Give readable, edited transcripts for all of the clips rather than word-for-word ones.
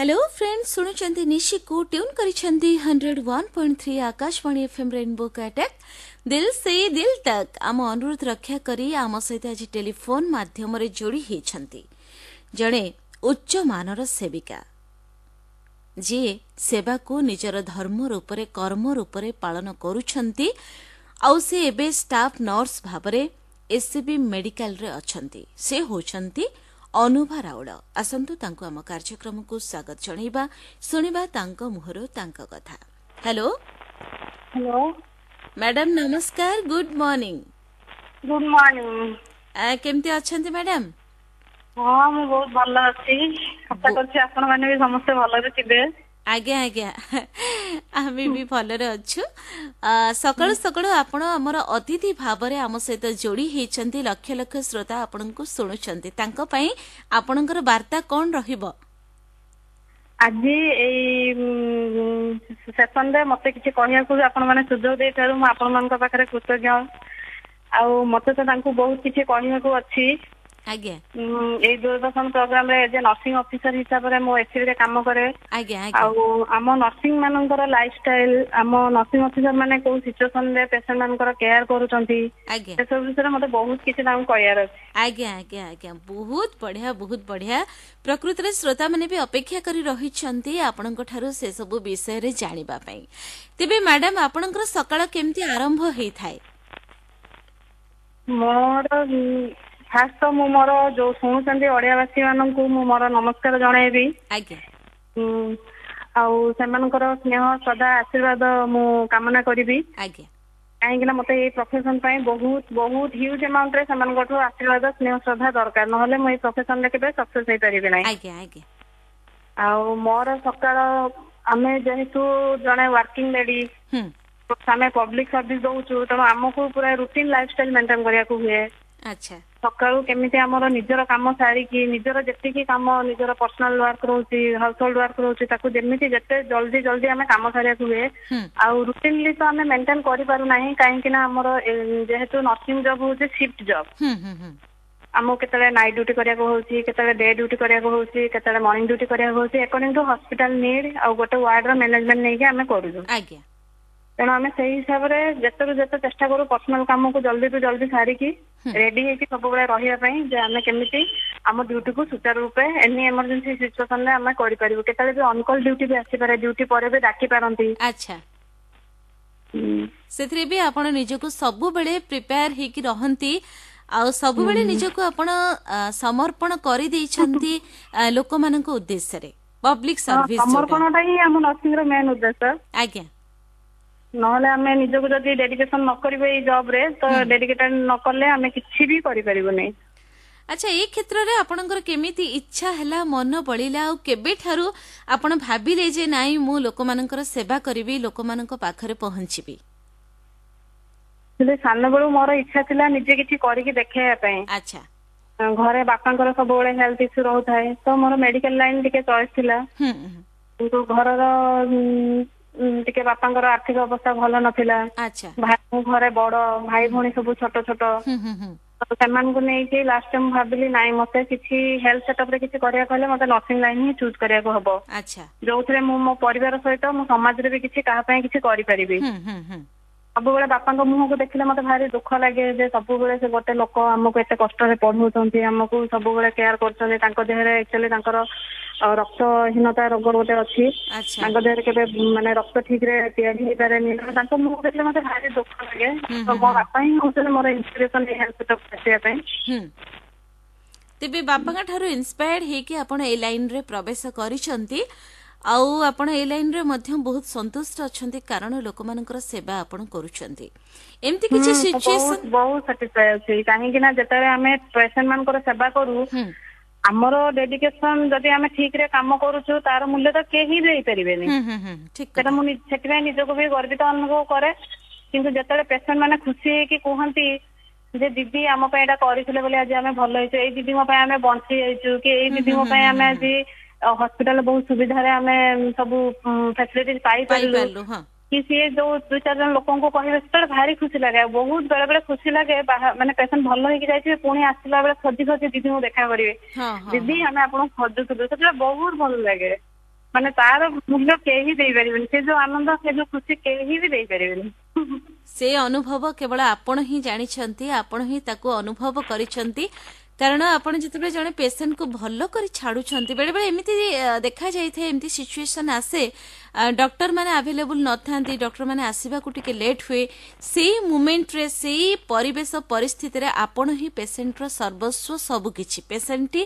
Hello friend, ଶୁଣୁଛନ୍ତି ନିଶିକୁ, tune କରିଛନ୍ତି 101.3 Akashvani FM rainbow Cuttack, ଦିଲ୍ ସେ ଦିଲ୍ ତକ୍। ଆମ ଅନୁରୋଧ ରକ୍ଷା କରି ଆମ ସହିତ ଆଜି ଟେଲିଫୋନ୍ ମାଧ୍ୟମରେ ଯୋଡ଼ି ହେଇଛନ୍ତି ଜଣେ ଉଚ୍ଚମାନର ସେବିକା, ଯିଏ ସେବାକୁ ନିଜର ଧର୍ମ ରୂପରେ, କର୍ମ ରୂପରେ ପାଳନ କରୁଛନ୍ତି। ଆଉ ସେ ଏବେ ଷ୍ଟାଫ୍ ନର୍ସ ଭାବରେ ଏସ୍ସିବି ମେଡିକାଲରେ ଅଛନ୍ତି। ସେ ହେଉଛନ୍ତି ଅନୁଭା ରାଉଳ। ଆସନ୍ତୁ ତାଙ୍କୁ ଆମ କାର୍ଯ୍ୟକ୍ରମକୁ ସ୍ୱାଗତ ଜଣାଇବା, ଶୁଣିବା ତାଙ୍କ ମୁହଁରୁ ତାଙ୍କ କଥା। ହ୍ୟାଲୋ। ହ୍ୟାଲୋ। ମ୍ୟାଡାମ, ନମସ୍କାର, ଗୁଡ୍ ମର୍ଣ୍ଣିଂ। Good morning. କେମିତି ଅଛନ୍ତି ମ୍ୟାଡାମ? ହଁ, ମୁଁ ବହୁତ ଭଲ ଅଛି। ଆଶା କରୁଛି ଆପଣ ମାନେ ବି ସମସ୍ତେ ଭଲରେ ଥିବେ। ଆଜ୍ଞା, ଆମେ ବି ଭଲରେ ଅଛୁ। ସକାଳୁ ସକାଳୁ ଆପଣ ଆମର ଅତିଥି ଭାବରେ ଆମ ସହିତ ଯୋଡ଼ି ହେଇଛନ୍ତି। ଲକ୍ଷ ଲକ୍ଷ ଶ୍ରୋତା ଆପଣଙ୍କୁ ଶୁଣୁଛନ୍ତି, ତାଙ୍କ ପାଇଁ ଆପଣଙ୍କର ବାର୍ତ୍ତା କଣ ରହିବ? ଆଜି ଏଇ ସେସନରେ ମତେ କିଛି କହିବାକୁ ଆପଣ ମାନେ ସୁଯୋଗ ଦେଇଥିବାରୁ ମୁଁ ଆପଣମାନଙ୍କ ପାଖରେ କୃତଜ୍ଞ। ଆଉ ମତେ ତ ତାଙ୍କୁ ବହୁତ କିଛି କହିବାକୁ ଅଛି। ଏଇ ଦୂରଦର୍ଶନ ପ୍ରୋଗ୍ରାମରେ ଏଜ ଏ ନର୍ସିଂ ଅଫିସର ହିସାବରେ ମୁଁ ଏସସିବି ରେ କାମ କରେ। ଆଜ୍ଞା ଆଉ ଆମ ନର୍ସିଂ ମାନଙ୍କର ଲାଇଫଷ୍ଟାଇଲ, ଆମ ନର୍ସିଂ ଅଫିସର ମାନେ କୋଉ ସିଚୁଏସନରେ ପେସେଣ୍ଟ ମାନଙ୍କର କେୟାର କରୁଛନ୍ତି, ସେସବୁ ବିଷୟରେ ମତେ ବହୁତ କିଛି ତାଙ୍କୁ କହିବାର ଅଛି। ଆଜ୍ଞା, ବହୁତ ବଢିଆ, ବହୁତ ବଢିଆ। ପ୍ରକୃତରେ ଶ୍ରୋତାମାନେ ବି ଅପେକ୍ଷା କରି ରହିଛନ୍ତି ଆପଣଙ୍କ ଠାରୁ ସେସବୁ ବିଷୟରେ ଜାଣିବା ପାଇଁ। ତେବେ ମ୍ୟାଡାମ, ଆପଣଙ୍କର ସକାଳ କେମିତି ଆରମ୍ଭ ହେଇଥାଏ? ମୋର ଫାଷ୍ଟ ତ ମୁଁ ମୋର ଯୋଉ ଶୁଣୁଛନ୍ତି ଓଡିଆବାସୀ ମାନଙ୍କୁ ମୁଁ ମୋର ନମସ୍କାର ଜଣାଇବି। ଆଉ ସେମାନଙ୍କର ସ୍ନେହ, ଶ୍ରଦ୍ଧା, ଆଶୀର୍ବାଦ ମୁଁ କାମନା କରିବି। କାହିଁକି ନା ମତେ ଏଇ ପ୍ରଫେସନ ପାଇଁ ବହୁତ ବହୁତ ହ୍ୟୁଜ ଆମାଉଣ୍ଟରେ ସେମାନଙ୍କଠୁ ଆଶୀର୍ବାଦ, ସ୍ନେହ, ଶ୍ରଦ୍ଧା ଦରକାର, ନହେଲେ ମୁଁ ଏଇ ପ୍ରଫେସନରେ କେବେ ସକ୍ସେସ ହେଇପାରିବି ନାହିଁ। ଆଜ୍ଞା ଆଜ୍ଞା ଆଉ ମୋର ସକାଳ, ଆମେ ଯେହେତୁ ଜଣେ ୱାର୍କିଂ ଲେଡି, ଆମେ ପବ୍ଲିକ ସର୍ଭିସ ଦଉଛୁ, ତେଣୁ ଆମକୁ ପୁରା ରୁଟିନ ଲାଇଫଷ୍ଟାଇଲ ମେଣ୍ଟେନ କରିବାକୁ ହୁଏ। ସକାଳୁ କେମିତି ଆମର ନିଜର କାମ ସାରିକି, ନିଜର ଯେତିକି କାମ, ନିଜର ପର୍ସନାଲ ୱାର୍କ ରହୁଛି, ହାଉସ ହୋଲ୍ଡ ୱାର୍କ ରହୁଛି, ତାକୁ ଯେମିତି ଯେତେ ଜଲ୍ଦି ଜଲ୍ଦି ଆମେ କାମ ସାରିବାକୁ ହୁଏ। ଆଉ ରୁଟିନଲି ତ ଆମେ ମେଣ୍ଟେନ କରିପାରୁନାହିଁ, କାହିଁକି ନା ଆମର ଯେହେତୁ ନର୍ସିଂ ଜବ୍ ହଉଛି ସିଫ୍ଟ ଜବ୍। ହୁଁ ହୁଁ ହୁଁ ଆମକୁ କେତେବେଳେ ନାଇଟ୍ ଡ୍ୟୁଟି କରିବାକୁ ହଉଛି, କେତେବେଳେ ଡେ ଡ୍ୟୁଟି କରିବାକୁ ହଉଛି, କେତେବେଳେ ମର୍ଣ୍ଣିଂ ଡ୍ୟୁଟି କରିବାକୁ ହଉଛି, ଆକର୍ଡିଂ ଟୁ ହସ୍ପିଟାଲ ନିଡ୍ ଆଉ ଗୋଟେ ୱାର୍ଡର ମ୍ୟାନେଜମେଣ୍ଟ ନେଇକି ଆମେ କରୁଛୁ। ତେଣୁ ଆମେ ସେଇ ହିସାବରେ ଯେତେରୁ ଯେତେ ଚେଷ୍ଟା କରୁ ପର୍ସନାଲ କାମକୁ ଜଲ୍ଦିରୁ ଜଲ୍ଦି ସାରିକି ରେଡି ହେଇକି ସବୁବେଳେ ରହିବା ପାଇଁ, ଯେ ଆମେ କେମିତି ଆମ ଡ୍ୟୁଟିକୁ ସୁଚାରୁ ରୂପେ ଏନି ଏମର୍ଜେନ୍ସି ସିଚୁଏସନରେ ଆମେ କରିପାରିବୁ। କେତେବେଳେ ବି ଅନକଲ୍ ଡ୍ୟୁଟି ବି ଆସିପାରେ, ଡ୍ୟୁଟି ପରେ ବି ଡାକି ପାରନ୍ତି। ସେଥିରେ ବି ଆପଣ ନିଜକୁ ସବୁବେଳେ ପ୍ରିପେୟାର ହେଇକି ରହନ୍ତି ଆଉ ସବୁବେଳେ ନିଜକୁ ଆପଣ ସମର୍ପଣ କରିଦେଇଛନ୍ତି ଲୋକମାନଙ୍କ ଉଦ୍ଦେଶ୍ୟରେ, ପବ୍ଲିକ ସର୍ଭିସ ଯୋଉଟା। ସମର୍ପଣଟା ହିଁ ଆମ ନର୍ସିଂ ର ମେନ୍ ଉଦ୍ଦେଶ୍ୟ। ନହେଲେ ଆମେ ନିଜକୁ ଯଦି ଡେଡିକେସନ ନ କରିବେ ଏଇ ଜବ ରେ, ତ ଡେଡିକେଟେଡ ନ କଲେ ଆମେ କିଛି ବି କରିପାରିବୁନି। ଆଚ୍ଛା, ଏଇ କ୍ଷେତ୍ରରେ ଆପଣଙ୍କର କେମିତି ଇଚ୍ଛା ହେଲା, ମନ ବଳିଲା, ଆଉ କେବେଠାରୁ ଆପଣ ଭାବିଲେ ଯେ ନାଇଁ, ମୁଁ ଲୋକମାନଙ୍କର ସେବା କରିବି, ଲୋକମାନଙ୍କ ପାଖରେ ପହଞ୍ଚିବି? ହେଲେ ସାନବେଳୁ ମୋର ଇଚ୍ଛା ଥିଲା ନିଜେ କିଛି କରିକି ଦେଖେଇବା ପାଇଁ। ଘରେ ବାପାଙ୍କର ସବୁବେଳେ ହେଲ୍ଥ ଇସ୍ୟୁ ରହୁଥାଏ, ତ ମୋର ମେଡିକାଲ ଲାଇନ ଟିକେ ଚଏସ୍ ଥିଲା। କିନ୍ତୁ ଘରର ଟିକେ ବାପାଙ୍କର ଆର୍ଥିକ ଅବସ୍ଥା ଭଲ ନଥିଲା। ଭାଇ, ମୁଁ ଘରେ ବଡ, ଭାଇ ଭଉଣୀ ସବୁ ଛୋଟ ଛୋଟ। ହୁଁ ହୁଁ ହୁଁ ତ ସେମାନଙ୍କୁ ନେଇକି ଲାଷ୍ଟ ମୁଁ ଭାବିଲି, ନାଇଁ, ମତେ କିଛି ହେଲ୍ଥ ସେଟଅପ ରେ କିଛି କରିବାକୁ ହେଲେ ମତେ ନର୍ସିଂ ଲାଇନ ହିଁ ଚୁଜ୍ କରିବାକୁ ହବ, ଯୋଉଥିରେ ମୁଁ ମୋ ପରିବାର ସହିତ ମୁଁ ସମାଜରେ ବି କିଛି କାହା ପାଇଁ କିଛି କରିପାରିବି। ହୁଁ ହୁଁ ହୁଁ ସବୁବେଳେ ବାପାଙ୍କ ମୁହଁକୁ ଦେଖିଲେ ମତେ ଭାରି ଦୁଃଖ ଲାଗେ ଯେ ସବୁବେଳେ ସେ ଗୋଟେ ଲୋକ ଆମକୁ ଏତେ କଷ୍ଟରେ ପଢଉଛନ୍ତି, ଆମକୁ ସବୁବେଳେ କେୟାର କରୁଛନ୍ତି। ତାଙ୍କ ଦେହରେ ଆକ୍ଚୁଆଲି ତାଙ୍କର ରକ୍ତହୀନତା ରୋଗ ଗୋଟେ ଅଛି। ତାଙ୍କ ଦେହରେ କେବେ ମାନେ ରକ୍ତ ଠିକ ରେ ତିଆରି ହେଇପାରେନି। ତେଣୁ ତାଙ୍କ ମୁହଁ ଦେଖିଲେ ମତେ ଭାରି ଦୁଃଖ ଲାଗେ। ତ ମୋ ବାପା ହିଁ ହଉଛନ୍ତି ମୋର ଇନ୍ସପିରେସନ ଏଇ ହେଲ୍ଥ ସେଟଅପ ଆସିବା ପାଇଁ। ତେବେ ବାପାଙ୍କ ଠାରୁ ଇନ୍ସପାୟାର୍ଡ ହେଇକି ଆପଣ ଏ ଲାଇନରେ ପ୍ରବେଶ କରିଛନ୍ତି ଆଉ ଆପଣ ଏ ଲାଇନରେ ମଧ୍ୟ ବହୁତ ସନ୍ତୁଷ୍ଟ ଅଛନ୍ତି, କାରଣ ଲୋକମାନଙ୍କର ସେବା ଆପଣ କରୁଛନ୍ତି। ଏମିତି କିଛି ମୁଁ ସିଚୁଏସନ ବହୁତ ବହୁତ ସାଟିସ୍ଫାଏ ଅଛି, କାହିଁକି ନା ଯେତେବେଳେ ଆମେ ପେସେଣ୍ଟ ମାନଙ୍କର ସେବା କରୁ, ଆମର ଡେଡିକେସନ, ଯଦି ଆମେ ଠିକ ରେ କାମ କରୁଛୁ, ତାର ମୂଲ୍ୟ ତ କେହି ଦେଇପାରିବେନି। ହୁଁ ହୁଁ ହୁଁ ଠିକ ସେଟା କଥା। ମୁଁ ସେଥିପାଇଁ ନିଜକୁ ବି ଗର୍ବିତ ଅନୁଭବ କରେ। କିନ୍ତୁ ଯେତେବେଳେ ପେସେଣ୍ଟ ମାନେ ଖୁସି ହେଇକି କୁହନ୍ତି ଯେ ଦିଦି ଆମ ପାଇଁ ଏଇଟା କରିଥିଲେ ବୋଲି ଆଜି ଆମେ ଭଲ ହେଇଛୁ, ଏଇ ଦିଦିଙ୍କ ପାଇଁ ଆମେ ବଞ୍ଚି ଯାଇଛୁ, କି ଏଇ ଦିଦିଙ୍କ ପାଇଁ ଆମେ ଆଜି ହସ୍ପିଟାଲ ବହୁତ ସୁବିଧାରେ ଆମେ ସବୁ ଫ୍ୟାସିଲିଟି ପାଇପାରିଲୁ, ପାଇପାରିଲୁ, ହଁ। କି ସିଏ ଯୋଉ ଦୁଇ ଚାରି ଜଣ ଲୋକଙ୍କୁ କହିବେ, ସେତେବେଳେ ଭାରି ଖୁସି ଲାଗେ। ଆଉ ବହୁତ ବେଳେ ବେଳେ ଖୁସି ଲାଗେ, ମାନେ ପେସେଣ୍ଟ ଭଲ ହେଇକି ଯାଇଥିବେ, ପୁଣି ଆସିଲା ବେଳେ ଖୋଜି ଖୋଜି ଦିଦିଙ୍କୁ ଦେଖା କରିବେ, ହଁ ହଁ ଦିଦି, ଆମେ ଆପଣଙ୍କୁ ଖୋଜୁଥିଲୁ। ସେତେବେଳେ ବହୁତ ଭଲ ଲାଗେ। ମାନେ ତାର ମୂଲ୍ୟ କେହି ଦେଇପାରିବେନି। ସେ ଯୋଉ ଆନନ୍ଦ, ସେ ଯୋଉ ଖୁସି କେହି ବି ଦେଇପାରିବେନି। ସେ ଅନୁଭବ କେବଳ ଆପଣ ହିଁ ଜାଣିଛନ୍ତି, ଆପଣ ହିଁ ତାକୁ ଅନୁଭବ କରିଛନ୍ତି। କାରଣ ଆପଣ ଯେତେବେଳେ ଜଣେ ପେସେଣ୍ଟକୁ ଭଲ କରି ଛାଡୁଛନ୍ତି, ବେଳେବେଳେ ଏମିତି ଦେଖାଯାଇଥାଏ, ଏମିତି ସିଚୁଏସନ ଆସେ, ଡକ୍ଟର ମାନେ ଆଭେଲେବୁଲ ନଥାନ୍ତି, ଡକ୍ଟର ମାନେ ଆସିବାକୁ ଟିକେ ଲେଟ୍ ହୁଏ। ସେଇ ମୁମେଣ୍ଟରେ, ସେଇ ପରିବେଶ ପରିସ୍ଥିତିରେ ଆପଣ ହିଁ ପେସେଣ୍ଟର ସର୍ବସ୍ୱ, ସବୁକିଛି ପେସେଣ୍ଟଟି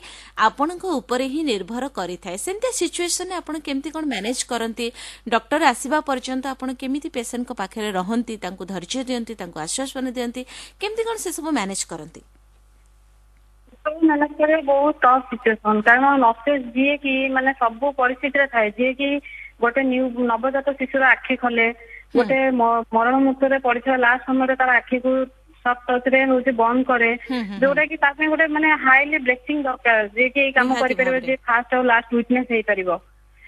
ଆପଣଙ୍କ ଉପରେ ହିଁ ନିର୍ଭର କରିଥାଏ। ସେମିତିଆ ସିଚୁଏସନରେ ଆପଣ କେମିତି କ'ଣ ମ୍ୟାନେଜ କରନ୍ତି? ଡକ୍ଟର ଆସିବା ପର୍ଯ୍ୟନ୍ତ ଆପଣ କେମିତି ପେସେଣ୍ଟଙ୍କ ପାଖରେ ରହନ୍ତି, ତାଙ୍କୁ ଧୈର୍ଯ୍ୟ ଦିଅନ୍ତି, ତାଙ୍କୁ ଆଶ୍ୱାସନା ଦିଅନ୍ତି, କେମିତି କ'ଣ ସେସବୁ ମ୍ୟାନେଜ କରନ୍ତି? ମ୍ୟାନେଜ କରିବା ବହୁତ ଟଫ୍ ସିଚୁଏସନ, କାରଣ ନର୍ସେସ୍ ଯିଏ କି ମାନେ ସବୁ ପରିସ୍ଥିତିରେ ଥାଏ, ଯିଏ କି ଗୋଟେ ନ୍ୟୁ ନବଜାତ ଶିଶୁର ଆଖି ଖୋଲେ, ଗୋଟେ ମରଣ ମୁହୂର୍ତ୍ତରେ ପଡିଥିବା ଲାଷ୍ଟ ସମୟରେ ତାର ଆଖିକୁ ସଫ୍ଟ ଟଚ୍ ରେ ହଉଛି ବନ୍ଦ କରେ, ଯୋଉଟା କି ତା ପାଇଁ ଗୋଟେ ମାନେ ହାଇଲି ବ୍ଲେସିଂ ଦରକାର, ଯିଏ କି ଏଇ କାମ କରିପାରିବ, ଯିଏ ଫାଷ୍ଟ ଆଉ ଲାଷ୍ଟ ୱିଟନେସ୍ ହେଇପାରିବ।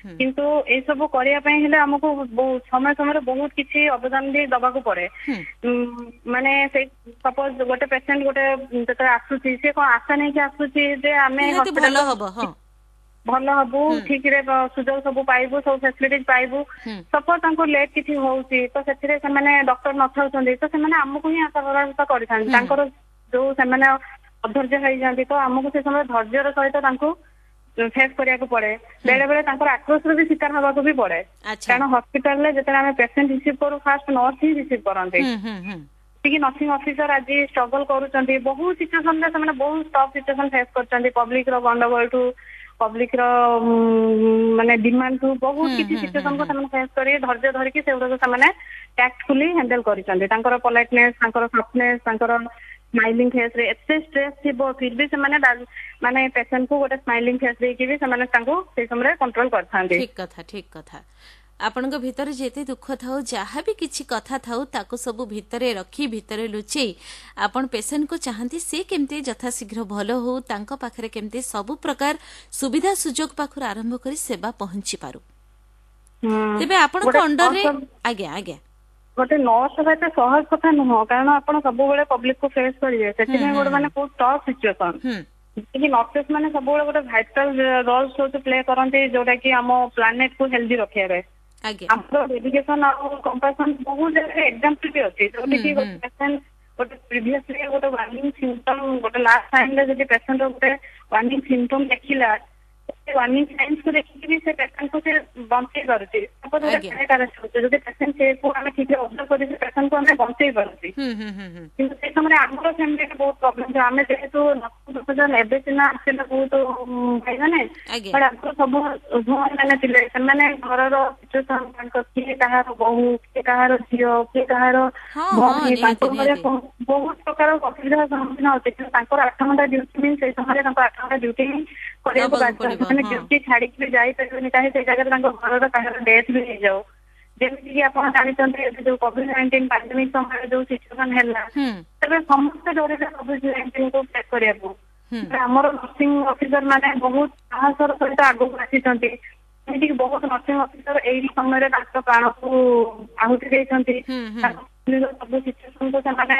କିନ୍ତୁ ଏଇ ସବୁ କରିବା ପାଇଁ ହେଲେ ଆମକୁ ସମୟ ସମୟରେ ବହୁତ କିଛି ଅବଦାନ ବି ଦବାକୁ ପଡେ। ମାନେ ସେଇ ସପୋଜ ଗୋଟେ ପେସେଣ୍ଟ ଗୋଟେ ଯେତେବେଳେ ଆସୁଛି, ସେ କଣ ଆଶା ନେଇକି ଆସୁଛି ଯେ ଆମେ ଭଲ ହବ, ଭଲ ହବୁ, ଠିକରେ ସୁଯୋଗ ସବୁ ପାଇବୁ, ସବୁ ଫେସିଲିଟି ପାଇବୁ। ସପୋଜ ତାଙ୍କୁ ଲେଟ୍ କିଛି ହଉଛି, ତ ସେଥିରେ ସେମାନେ ଡକ୍ଟର ନଥାଉଛନ୍ତି, ତ ସେମାନେ ଆମକୁ ହିଁ ଆଶା ଭରସା କରିଥାନ୍ତି। ତାଙ୍କର ଯୋଉ ସେମାନେ ଅଧୈର୍ଯ୍ୟ ହେଇଯାନ୍ତି, ତ ଆମକୁ ସେ ସମୟରେ ଧୈର୍ଯ୍ୟର ସହିତ ତାଙ୍କୁ ଫେସ୍ କରିବାକୁ ପଡେ। ବେଳେ ବେଳେ ତାଙ୍କର ଆକ୍ରୋଶର ବି ଶିକାର ହବାକୁ ବି ପଡେ, କାରଣ ହସ୍ପିଟାଲରେ ଯେତେବେଳେ ଆମେ ପେସେଣ୍ଟ ରିସିଭ୍ କରୁ, ଫାଷ୍ଟ ନର୍ସ ହିଁ ରିସିଭ୍ କରନ୍ତି। ଯେତିକି ନର୍ସିଂ ଅଫିସର ଆଜି ଷ୍ଟ୍ରଗଲ କରୁଛନ୍ତି, ବହୁତ ସିଚୁଏସନରେ ସେମାନେ ବହୁତ ଟଫ୍ ସିଚୁଏସନ ଫେସ୍ କରୁଛନ୍ତି, ପବ୍ଲିକ ର ଗଣ୍ଡଗୋଳଠୁ, ପବ୍ଲିକ ର ମାନେ ଡିମାଣ୍ଡଠୁ, ବହୁତ କିଛି ସିଚୁଏସନକୁ ସେମାନେ ଫେସ୍ କରି ଧୈର୍ଯ୍ୟ ଧରିକି ସେଗୁଡାକୁ ସେମାନେ ଟ୍ୟାକ୍ଟଫୁଲି ହ୍ୟାଣ୍ଡେଲ କରିଛନ୍ତି। ତାଙ୍କର ପଲାଇଟନେସ୍, ତାଙ୍କର ସଫ୍ଟନେସ୍, ତାଙ୍କର ସ୍ମାଇଲିଂ ଫେସ୍ ରେ ଏତେ ଷ୍ଟ୍ରେସ୍ ଥିବ, ଫିର ବି ସେମାନେ ମାନେ ପେସେଣ୍ଟ କୁ ଗୋଟେ ସ୍ମାଇଲିଂ ଫେସ୍ ଦେଇକି ବି ସେମାନେ ତାଙ୍କୁ ସେଇ ସମୟରେ କଣ୍ଟ୍ରୋଲ କରିଥାନ୍ତି। ଠିକ କଥା, ଠିକ କଥା। ଆପଣଙ୍କ ଭିତରେ ଯେତେ ଦୁଃଖ ଥାଉ, ଯାହା ବି କିଛି କଥା ଥାଉ, ତାକୁ ସବୁ ଭିତରେ ରଖି, ଭିତରେ ଲୁଚେଇ ଆପଣ ପେସେଣ୍ଟକୁ ଚାହାନ୍ତି ସେ କେମିତି ଯଥାଶୀଘ୍ର ଭଲ ହଉ, ତାଙ୍କ ପାଖରେ କେମିତି ସବୁ ପ୍ରକାର ସୁବିଧା ସୁଯୋଗ ପାଖରୁ ଆରମ୍ଭ କରି ସେବା ପହଞ୍ଚି ପାରୁ। ତେବେ ଆପଣଙ୍କ ଅଣ୍ଡରରେ, ଆଜ୍ଞା ଆଜ୍ଞା। ଗୋଟେ ନର୍ସ ହେବା ଏତେ ସହଜ କଥା ନୁହଁ, କାରଣ ଆପଣ ସବୁବେଳେ ପବ୍ଲିକ କୁ ଫେସ୍ କରିବେ। ସେଥିପାଇଁ ଗୋଟେ ମାନେ ବହୁତ ଟଫ୍ ସିଚୁଏସନ କି ନର୍ସେସ୍ ମାନେ ସବୁବେଳେ ଗୋଟେ ଭାଇଟାଲ ରୋଲ ହଉଛି ପ୍ଲେ କରନ୍ତି, ଯୋଉଟା କି ଆମ ପ୍ଲାନେଟ କୁ ହେଲ୍ଦି ରଖିବାରେ। ଆମର ଡେଡିକେସନ ଆଉ କମ୍ପାସନ ବହୁତ ଜାଗାରେ ଏକ୍ସାମ୍ପଲ ବି ଅଛି, ଯୋଉଠି କି ଗୋଟେ ପେସେଣ୍ଟ ଗୋଟେ ପ୍ରିଭିୟସଲି ଗୋଟେ ୱାର୍ନିଂ ସିମ୍ପଟମ, ଗୋଟେ ଲାଷ୍ଟ ଟାଇମରେ ଯଦି ପେସେଣ୍ଟ ଗୋଟେ ୱାର୍ନିଂ ସିମ୍ପଟମ ଦେଖିଲା, ୱାର୍ନିଂ ସାଇନ୍ସ କୁ ଦେଖିକି ବି ସେ ପେସେଣ୍ଟ କୁ ସେ ବଞ୍ଚେଇ ପାରୁଛି। ସପୋଜ ଗୋଟେ କାର୍ଡିଆକ ଆରେଷ୍ଟ ହଉଛି, ଯଦି ପେସେଣ୍ଟ କୁ ଆମେ ଠିକରେ ଅବଜର୍ଭ କରି ସେ ପେସେଣ୍ଟ କୁ ଆମେ ବଞ୍ଚେଇ ପାରୁଛି। କିନ୍ତୁ ସେଇ ସମୟରେ ଆମର ଫ୍ୟାମିଲିରେ ବହୁତ ପ୍ରୋବ୍ଲେମ ଥିଲା। ଆମେ ଯେହେତୁ ପ୍ରଫେସନ ଏବେ ସିନା ଆସିଲେ ବହୁତ ଭାଇମାନେ, ବଟ୍ ଆଗରୁ ସବୁ ଭଉଣୀ ମାନେ ଥିଲେ। ସେମାନେ ଘରର ସିଚୁଏସନ, ତାଙ୍କ କିଏ କାହାର ବୋହୂ, କିଏ କାହାର ଝିଅ, କିଏ କାହାର ଭଉଣୀ, ତାଙ୍କ ଘରେ ବହୁତ ପ୍ରକାର ଅସୁବିଧାର ସମ୍ମୁଖୀନ ହଉଛି। କିନ୍ତୁ ତାଙ୍କର 8 ଘଣ୍ଟା ଡ୍ୟୁଟି ମିନ୍ ସେଇ ସମୟରେ ତାଙ୍କ 8 ଘଣ୍ଟା ଡ୍ୟୁଟି ହିଁ କରିବାକୁ ବାଧ୍ୟ। ସେମାନେ ଡ୍ୟୁଟି ଛାଡିକି ବି ଯାଇପାରିବେନି, କାହିଁ ସେଇ ଜାଗାରେ ତାଙ୍କ ଘରର କାହାର ଡେଥ୍ ବି ହେଇଯାଉ। ଯେମିତିକି ଆପଣ ଜାଣିଛନ୍ତି, ଏବେ ଯୋଉ କୋଭିଡ-19 ପାଣ୍ଡେମିକ ସମୟରେ ଯୋଉ ସିଚୁଏସନ ହେଲା, ତେବେ ସମସ୍ତେ ଡରିଲେ କୋଭିଡ-19 କୁ ଫେସ୍ କରିବାକୁ। ଆମର ନର୍ସିଂ ଅଫିସର ମାନେ ବହୁତ ସାହସର ସହିତ ଆଗକୁ ଆସିଛନ୍ତି। ଏମିତିକି ବହୁତ ନର୍ସିଂ ଅଫିସର ଏଇ ସମୟରେ ତାଙ୍କ ପ୍ରାଣକୁ ଆହୁତି ଦେଇଛନ୍ତି। ତାଙ୍କ ସବୁ ସିଚୁଏସନକୁ ସେମାନେ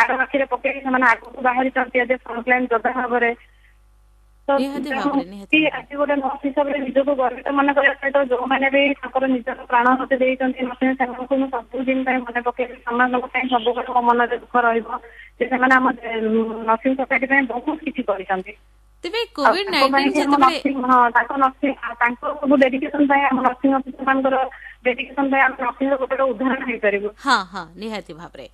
ଆର ଆଖିରେ ପକେଇକି ସେମାନେ ଆଗକୁ ବାହାରିଛନ୍ତି ଆଜି ଫ୍ରଣ୍ଟଲାଇନ ଯୋଦ୍ଧା ଭାବରେ। ତ ଆଜି ଗୋଟେ ନର୍ସ ହିସାବରେ ନିଜକୁ ଗର୍ବିତ ମନେ କରିବା ସହିତ ଯୋଉମାନେ ବି ତାଙ୍କର ନିଜର ପ୍ରାଣ ଆହୁତି ଦେଇଛନ୍ତି ନର୍ସିଂ, ସେମାନଙ୍କୁ ମୁଁ ସବୁଦିନ ପାଇଁ ମନେ ପକେଇବି। ସେମାନଙ୍କ ପାଇଁ ସବୁବେଳେ ମୋ ମନରେ ଦୁଃଖ ରହିବ ଯେ ସେମାନେ ଆମ ନର୍ସିଂ ସୋସାଇଟି ପାଇଁ ବହୁତ କିଛି କରିଛନ୍ତି। ତେବେ କୋଭିଡ-19 ଯେତେବେଳେ, ହଁ, ତାଙ୍କ ନର୍ସିଂ, ତାଙ୍କ ସବୁ ଡେଡିକେସନ ପାଇଁ, ଆମ ନର୍ସିଂ ଅଫିସର ମାନଙ୍କର ଡେଡିକେସନ ପାଇଁ ଆମେ ନର୍ସିଂ ର ଗୋଟେ ଉଦାହରଣ ହେଇପାରିବୁ। ହଁ ହଁ, ନିହାତି ଭାବରେ।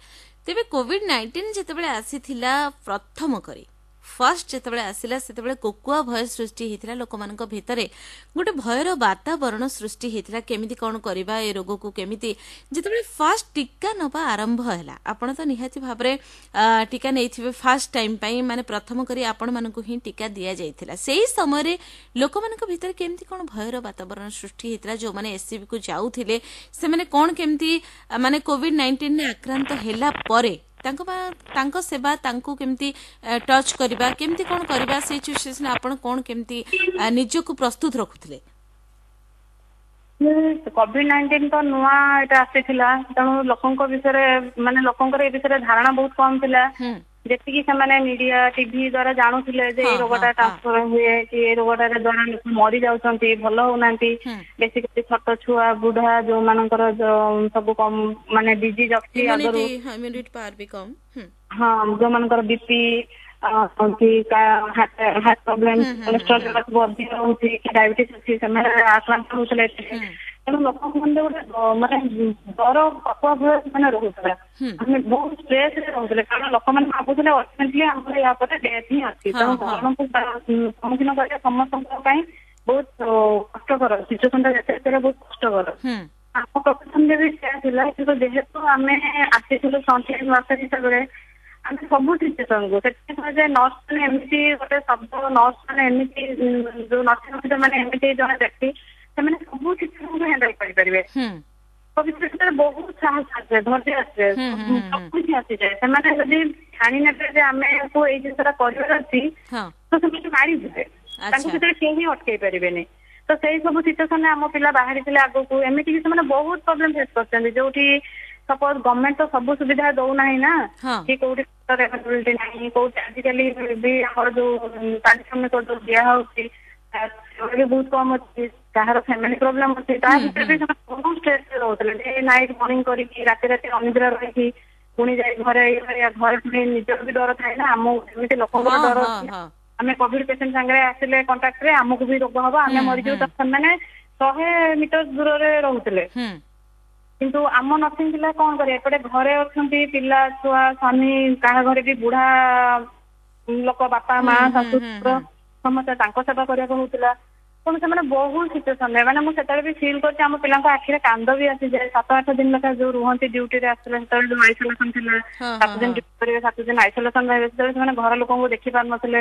ତେବେ କୋଭିଡ-19 ଯେତେବେଳେ ଆସିଥିଲା ପ୍ରଥମ କରି, ଫାର୍ଷ୍ଟ ଯେତେବେଳେ ଆସିଲା, ସେତେବେଳେ କୋକୁଆ ଭୟ ସୃଷ୍ଟି ହେଇଥିଲା ଲୋକମାନଙ୍କ ଭିତରେ, ଗୋଟେ ଭୟର ବାତାବରଣ ସୃଷ୍ଟି ହେଇଥିଲା, କେମିତି କ'ଣ କରିବା ଏ ରୋଗକୁ କେମିତି। ଯେତେବେଳେ ଫାର୍ଷ୍ଟ ଟୀକା ନେବା ଆରମ୍ଭ ହେଲା, ଆପଣ ତ ନିହାତି ଭାବରେ ଟୀକା ନେଇଥିବେ ଫାର୍ଷ୍ଟ ଟାଇମ୍ ପାଇଁ, ମାନେ ପ୍ରଥମ କରି ଆପଣମାନଙ୍କୁ ହିଁ ଟୀକା ଦିଆଯାଇଥିଲା। ସେଇ ସମୟରେ ଲୋକମାନଙ୍କ ଭିତରେ କେମିତି କ'ଣ ଭୟର ବାତାବରଣ ସୃଷ୍ଟି ହେଇଥିଲା? ଯେଉଁମାନେ ଏସ୍ସିବିକୁ ଯାଉଥିଲେ, ସେମାନେ କ'ଣ କେମିତି ମାନେ କୋଭିଡ-19ରେ ଆକ୍ରାନ୍ତ ହେଲା ପରେ ତାଙ୍କ ସେବା, ତାଙ୍କୁ କେମିତି ଟଚ୍ କରିବା, କେମିତି କ'ଣ କରିବା, ସେଇ ସିଚୁଏସନ ଆପଣ କ'ଣ କେମିତି ନିଜକୁ ପ୍ରସ୍ତୁତ ରଖୁଥିଲେ? କୋଭିଡ-19 ତ ନୂଆ ଏଇଟା ଆସିଥିଲା, ତେଣୁ ଲୋକଙ୍କ ବିଷୟରେ ମାନେ ଲୋକଙ୍କର ଏ ବିଷୟରେ ଧାରଣା ବହୁତ କମ ଥିଲା। ଯେତିକି ସେମାନେ ମିଡିଆ ଟିଭି ଦ୍ଵାରା ଜାଣୁଥିଲେ ଯେ ଏଇ ରୋଗଟା ଟ୍ରାନ୍ସଫର ହୁଏ କି ଏଇ ରୋଗଟା ଦ୍ଵାରା ଲୋକ ମରି ଯାଉଛନ୍ତି, ଭଲ ହଉନାହାନ୍ତି, ବେସିକାଲି ଛୋଟ ଛୁଆ, ବୁଢା, ଯୋଉମାନଙ୍କର ସବୁ କମ ମାନେ ଡିଜିଜ ଅଛି ଆଗରୁ, ହଁ, ଯୋଉମାନଙ୍କର ବିପି କି ହାର୍ଟ ପ୍ରୋବ୍ଲେମ, କୋଲେଷ୍ଟ୍ରଲ ସବୁ ଅଧିକ ରହୁଛି କି ଡାଇବେଟିସ୍ ଅଛି, ସେମାନେ ଆକ୍ରାନ୍ତ ହଉଥିଲେ ଏଥିରେ। ତେଣୁ ଲୋକଙ୍କ ମନରେ ଗୋଟେ ମାନେ ଡର ଭୟ ମାନେ ରହୁଥିଲା, ଆମେ ବହୁତ ଷ୍ଟ୍ରେସ ରେ ରହୁଥିଲେ, କାରଣ ଲୋକମାନେ ଭାବୁଥିଲେ ଅଲଟିମେଟଲି ଆମର ୟା ପରେ ଡେଥ୍ ହିଁ ଅଛି। ତେଣୁ ମରଣକୁ ସମ୍ମୁଖୀନ କରିବା ସମସ୍ତଙ୍କ ପାଇଁ ବହୁତ କଷ୍ଟକର, ସିଚୁଏସନ ଟା ଯେତେ ବହୁତ କଷ୍ଟକର। ଆମ ପ୍ରଫେସନରେ ବି ସେୟା ଥିଲା, କିନ୍ତୁ ଯେହେତୁ ଆମେ ଆସିଥିଲୁ ଫ୍ରଣ୍ଟଲାଇନ ୱାର୍କର ହିସାବରେ, ଆମେ ସବୁ ସିଚୁଏସନକୁ ସେଥିପାଇଁ କୁହାଯାଏ ନର୍ସ ମାନେ ଏମିତି ଗୋଟେ ଶବ୍ଦ, ନର୍ସ ମାନେ ଏମିତି ଯୋଉ ନର୍ସିଂ ଅଫିସର ମାନେ ଏମିତି ଜଣେ ବ୍ୟକ୍ତି, ସେମାନେ ସବୁ ସିଚୁଏସନକୁ ହ୍ୟାଣ୍ଡେଲ କରିପାରିବେ। ଭିତରେ ବହୁତ ସାହସ ଆସେ, ଧୈର୍ଯ୍ୟ ଆସେ, ସବୁ କିଛି ଆସିଯାଏ। ସେମାନେ ଯଦି ଠାଣି ନେବେ ଯେ ଆମକୁ ଏଇ ଜିନିଷଟା କରିବାର ଅଛି, ତ ସେମାନେ ମାରିଯିବେ, ତାଙ୍କୁ ସେଥିରେ କେହି ଅଟକେଇ ପାରିବେନି। ତ ସେଇ ସବୁ ସିଚୁଏସନରେ ଆମ ପିଲା ବାହାରିଥିଲେ ଆଗକୁ। ଏମିତିକି ସେମାନେ ବହୁତ ପ୍ରୋବ୍ଲେମ ଫେସ୍ କରିଛନ୍ତି, ଯୋଉଠି ସପୋଜ ଗଭର୍ଣ୍ଣମେଣ୍ଟ ତ ସବୁ ସୁବିଧା ଦଉନାହିଁ ନା, କି କୋଉଠି ଆଭେଲେବିଲିଟି ନାହିଁ, କୋଉଠି ଆଜିକାଲି ବି ଆମର ଯୋଉ ପାରିଶ୍ରମିକ ଯୋଉ ଦିଆ ହଉଛି ବି ବହୁତ କମ ଅଛି, କାହାର ଫ୍ୟାମିଲି ପ୍ରୋବ୍ଲେମ ଅଛି, ତା ଭିତରେ ବି ସେମାନେ ବହୁତ ଷ୍ଟ୍ରେସରେ ରହୁଥିଲେ। ଡେ ନାଇଟ୍ ମର୍ଣ୍ଣିଂ କରିକି, ରାତି ରାତି ଅନିଦ୍ରା ରହିକି, ପୁଣି ଯାଇ ଘରେ, ଘରେ ପୁଣି ନିଜର ବି ଡର ଥାଏ ନା, ଆମ ଏମିତି ଲୋକଙ୍କର ଡର ଅଛି, ଆମେ କୋଭିଡ ପେସେଣ୍ଟ ସାଙ୍ଗରେ ଆସିଲେ କଣ୍ଟାକ୍ଟରେ ଆମକୁ ବି ରୋଗ ହବ, ଆମେ ମରିଯିବୁ। ତ ସେମାନେ 100 ମିଟର ଦୂରରେ ରହୁଥିଲେ, କିନ୍ତୁ ଆମ ନର୍ସିଂ ପିଲା କଣ କରିବେ? ଏପଟେ ଘରେ ଅଛନ୍ତି ପିଲା ଛୁଆ, ସ୍ୱାମୀ, କାହା ଘରେ ବି ବୁଢା ଲୋକ, ବାପା ମା ଶାଶୁ ସମସ୍ତେ, ତାଙ୍କ ସେବା କରିବାକୁ ହଉଥିଲା। ତେଣୁ ସେମାନେ ବହୁତ ସିଚୁଏସନରେ, ମାନେ ମୁଁ ସେତେବେଳେ ବି ଫିଲ୍ କରିଛି, ଆମ ପିଲାଙ୍କ ଆଖିରେ କାନ୍ଦ ବି ଆସିଯାଏ। 7-8 ଦିନ ଲେଖା ଯୋଉ ରୁହନ୍ତି ଡ୍ୟୁଟିରେ ଆସୁଥିଲେ, ସେତେବେଳେ ଯୋଉ ଆଇସୋଲେସନ ଥିଲା, 7 ଦିନ ଡ୍ୟୁଟି କରିବେ, 7 ଦିନ ଆଇସୋଲେସନ ରହିବେ, ସେତେବେଳେ ସେମାନେ ଘର ଲୋକଙ୍କୁ ଦେଖି ପାରୁନଥିଲେ,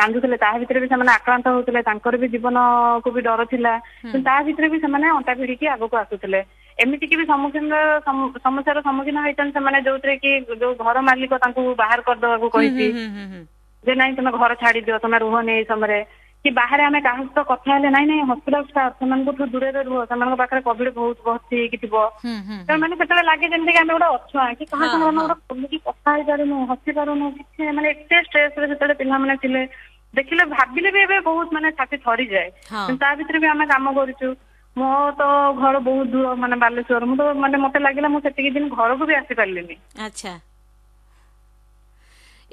କାନ୍ଦୁଥିଲେ। ତା ଭିତରେ ବି ସେମାନେ ଆକ୍ରାନ୍ତ ହଉଥିଲେ, ତାଙ୍କର ବି ଜୀବନକୁ ବି ଡର ଥିଲା, କିନ୍ତୁ ତା ଭିତରେ ବି ସେମାନେ ଅଣ୍ଟା ଭିଡିକି ଆଗକୁ ଆସୁଥିଲେ। ଏମିତିକି ବି ସମ୍ମୁଖୀନ ସମସ୍ୟାର ସମ୍ମୁଖୀନ ହେଇଛନ୍ତି ସେମାନେ, ଯୋଉଥିରେ କି ଯୋଉ ଘର ମାଲିକ ତାଙ୍କୁ ବାହାର କରିଦେବାକୁ କହିଛି ଯେ ନାଇଁ ତମେ ଘର ଛାଡିଦିଅ, ତମେ ରୁହନି ଏଇ ସମୟରେ, କି ବାହାରେ ଆମେ କାହା ସହିତ କଥା ହେଲେ ନାଇଁ ନାଇଁ ହସ୍ପିଟାଲ ଷ୍ଟାଫ ସେମାନଙ୍କଠୁ ଦୂରରେ ରୁହ, ସେମାନଙ୍କ ପାଖରେ କୋଭିଡ ବହୁତ ଭର୍ତ୍ତି ହେଇକି ଥିବ। ତେଣୁ ମାନେ ସେତେବେଳେ ଲାଗେ ଯେମିତି କି ଆମେ ଗୋଟେ ଅଛୁଆଁ, କି କାହା ସାଙ୍ଗରେ ଆମେ ଗୋଟେ ଖୋଲିକି କଥା ହେଇପାରୁନୁ, ହସି ପାରୁନୁ କିଛି, ମାନେ ଏତେ ଷ୍ଟ୍ରେସରେ ସେତେବେଳେ ପିଲାମାନେ ଥିଲେ। ଦେଖିଲେ ଭାବିଲେ ବି ଏବେ ବହୁତ ମାନେ ଛାତି ଥରିଯାଏ, କିନ୍ତୁ ତା ଭିତରେ ବି ଆମେ କାମ କରୁଛୁ। ମୋ ତ ଘର ବହୁତ ଦୂର, ମାନେ ବାଲେଶ୍ୱର, ମୁଁ ତ ମାନେ ମତେ ଲାଗିଲା ମୁଁ ସେତିକି ଦିନ ଘରକୁ ବି ଆସିପାରିଲିନି। ଆଚ୍ଛା,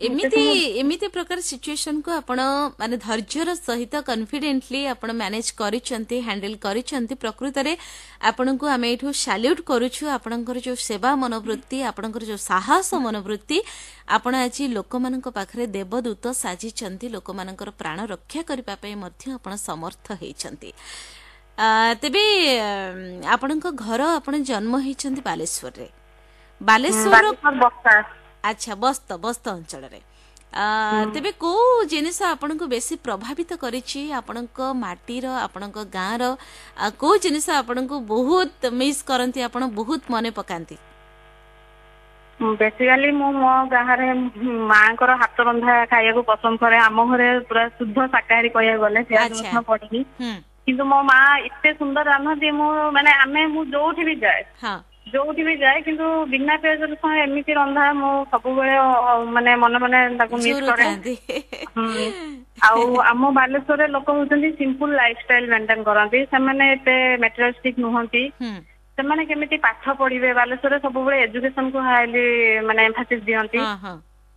ଏମିତି ଏମିତି ପ୍ରକାର ସିଚୁଏସନକୁ ଆପଣ ମାନେ ଧୈର୍ଯ୍ୟର ସହିତ କନଫିଡେଣ୍ଟଲି ଆପଣ ମ୍ୟାନେଜ କରିଛନ୍ତି, ହ୍ୟାଣ୍ଡେଲ କରିଛନ୍ତି। ପ୍ରକୃତରେ ଆପଣଙ୍କୁ ଆମେ ଏଇଠୁ ସାଲ୍ୟୁଟ କରୁଛୁ। ଆପଣଙ୍କର ଯୋଉ ସେବା ମନୋବୃତ୍ତି, ଆପଣଙ୍କର ଯୋଉ ସାହସ ମନୋବୃତ୍ତି, ଆପଣ ଆଜି ଲୋକମାନଙ୍କ ପାଖରେ ଦେବଦୂତ ସାଜିଛନ୍ତି। ଲୋକମାନଙ୍କର ପ୍ରାଣ ରକ୍ଷା କରିବା ପାଇଁ ମଧ୍ୟ ଆପଣ ସମର୍ଥ ହେଇଛନ୍ତି। ତେବେ ଆପଣଙ୍କ ଘର, ଆପଣ ଜନ୍ମ ହେଇଛନ୍ତି ବାଲେଶ୍ୱରରେ, ବାଲେଶ୍ୱର, ଆଚ୍ଛା, ବସ୍ତ ବସ୍ତ ଅଞ୍ଚଳରେ। ତେବେ କୋଉ ଜିନିଷ ଆପଣଙ୍କୁ ବେଶୀ ପ୍ରଭାବିତ କରିଛି? ଆପଣଙ୍କ ମାଟିର, ଆପଣଙ୍କ ଗାଁର କୋଉ ଜିନିଷ ଆପଣଙ୍କୁ ବହୁତ ମିସ୍ କରନ୍ତି, ଆପଣ ବହୁତ ମନେ ପକାନ୍ତି? ବେସିକାଲି ମୁଁ ମୋ ଗାଁରେ ମାଙ୍କର ହାତ ରନ୍ଧା ଖାଇବାକୁ ପସନ୍ଦ କରେ। ଆମ ଘରେ ପୁରା ଶୁଦ୍ଧ ଶାକାହାରୀ କହିବାକୁ ଗଲେ, ପିଆଜ ରସୁଣ ପଡିନି, କିନ୍ତୁ ମୋ ମା ଏତେ ସୁନ୍ଦର ରାନ୍ଧନ୍ତି, ମୁଁ ମାନେ ଆମେ ମୁଁ ଯୋଉଠି ବି ଯାଏ, ଯୋଉଠି ବି ଯାଏ, କିନ୍ତୁ ବିନା ପିଆଜ ରସୁଣ ଏମିତି ରନ୍ଧା ମୁଁ ସବୁବେଳେ ମାନେ ମନେ ମନେ ତାକୁ ମିସ୍ କରେ। ଆଉ ଆମ ବାଲେଶ୍ୱରରେ ଲୋକ ହଉଛନ୍ତି ସିମ୍ପଲ ଲାଇଫଷ୍ଟାଇଲ ମେଣ୍ଟେନ କରନ୍ତି, ସେମାନେ ଏତେ ମେଟେରିଆଲିଷ୍ଟିକ ନୁହନ୍ତି। ସେମାନେ କେମିତି ପାଠ ପଢିବେ, ବାଲେଶ୍ୱରରେ ସବୁବେଳେ ଏଜୁକେସନକୁ ହାଇଲି ମାନେ ଏମ୍ଫାସିସ୍ ଦିଅନ୍ତି,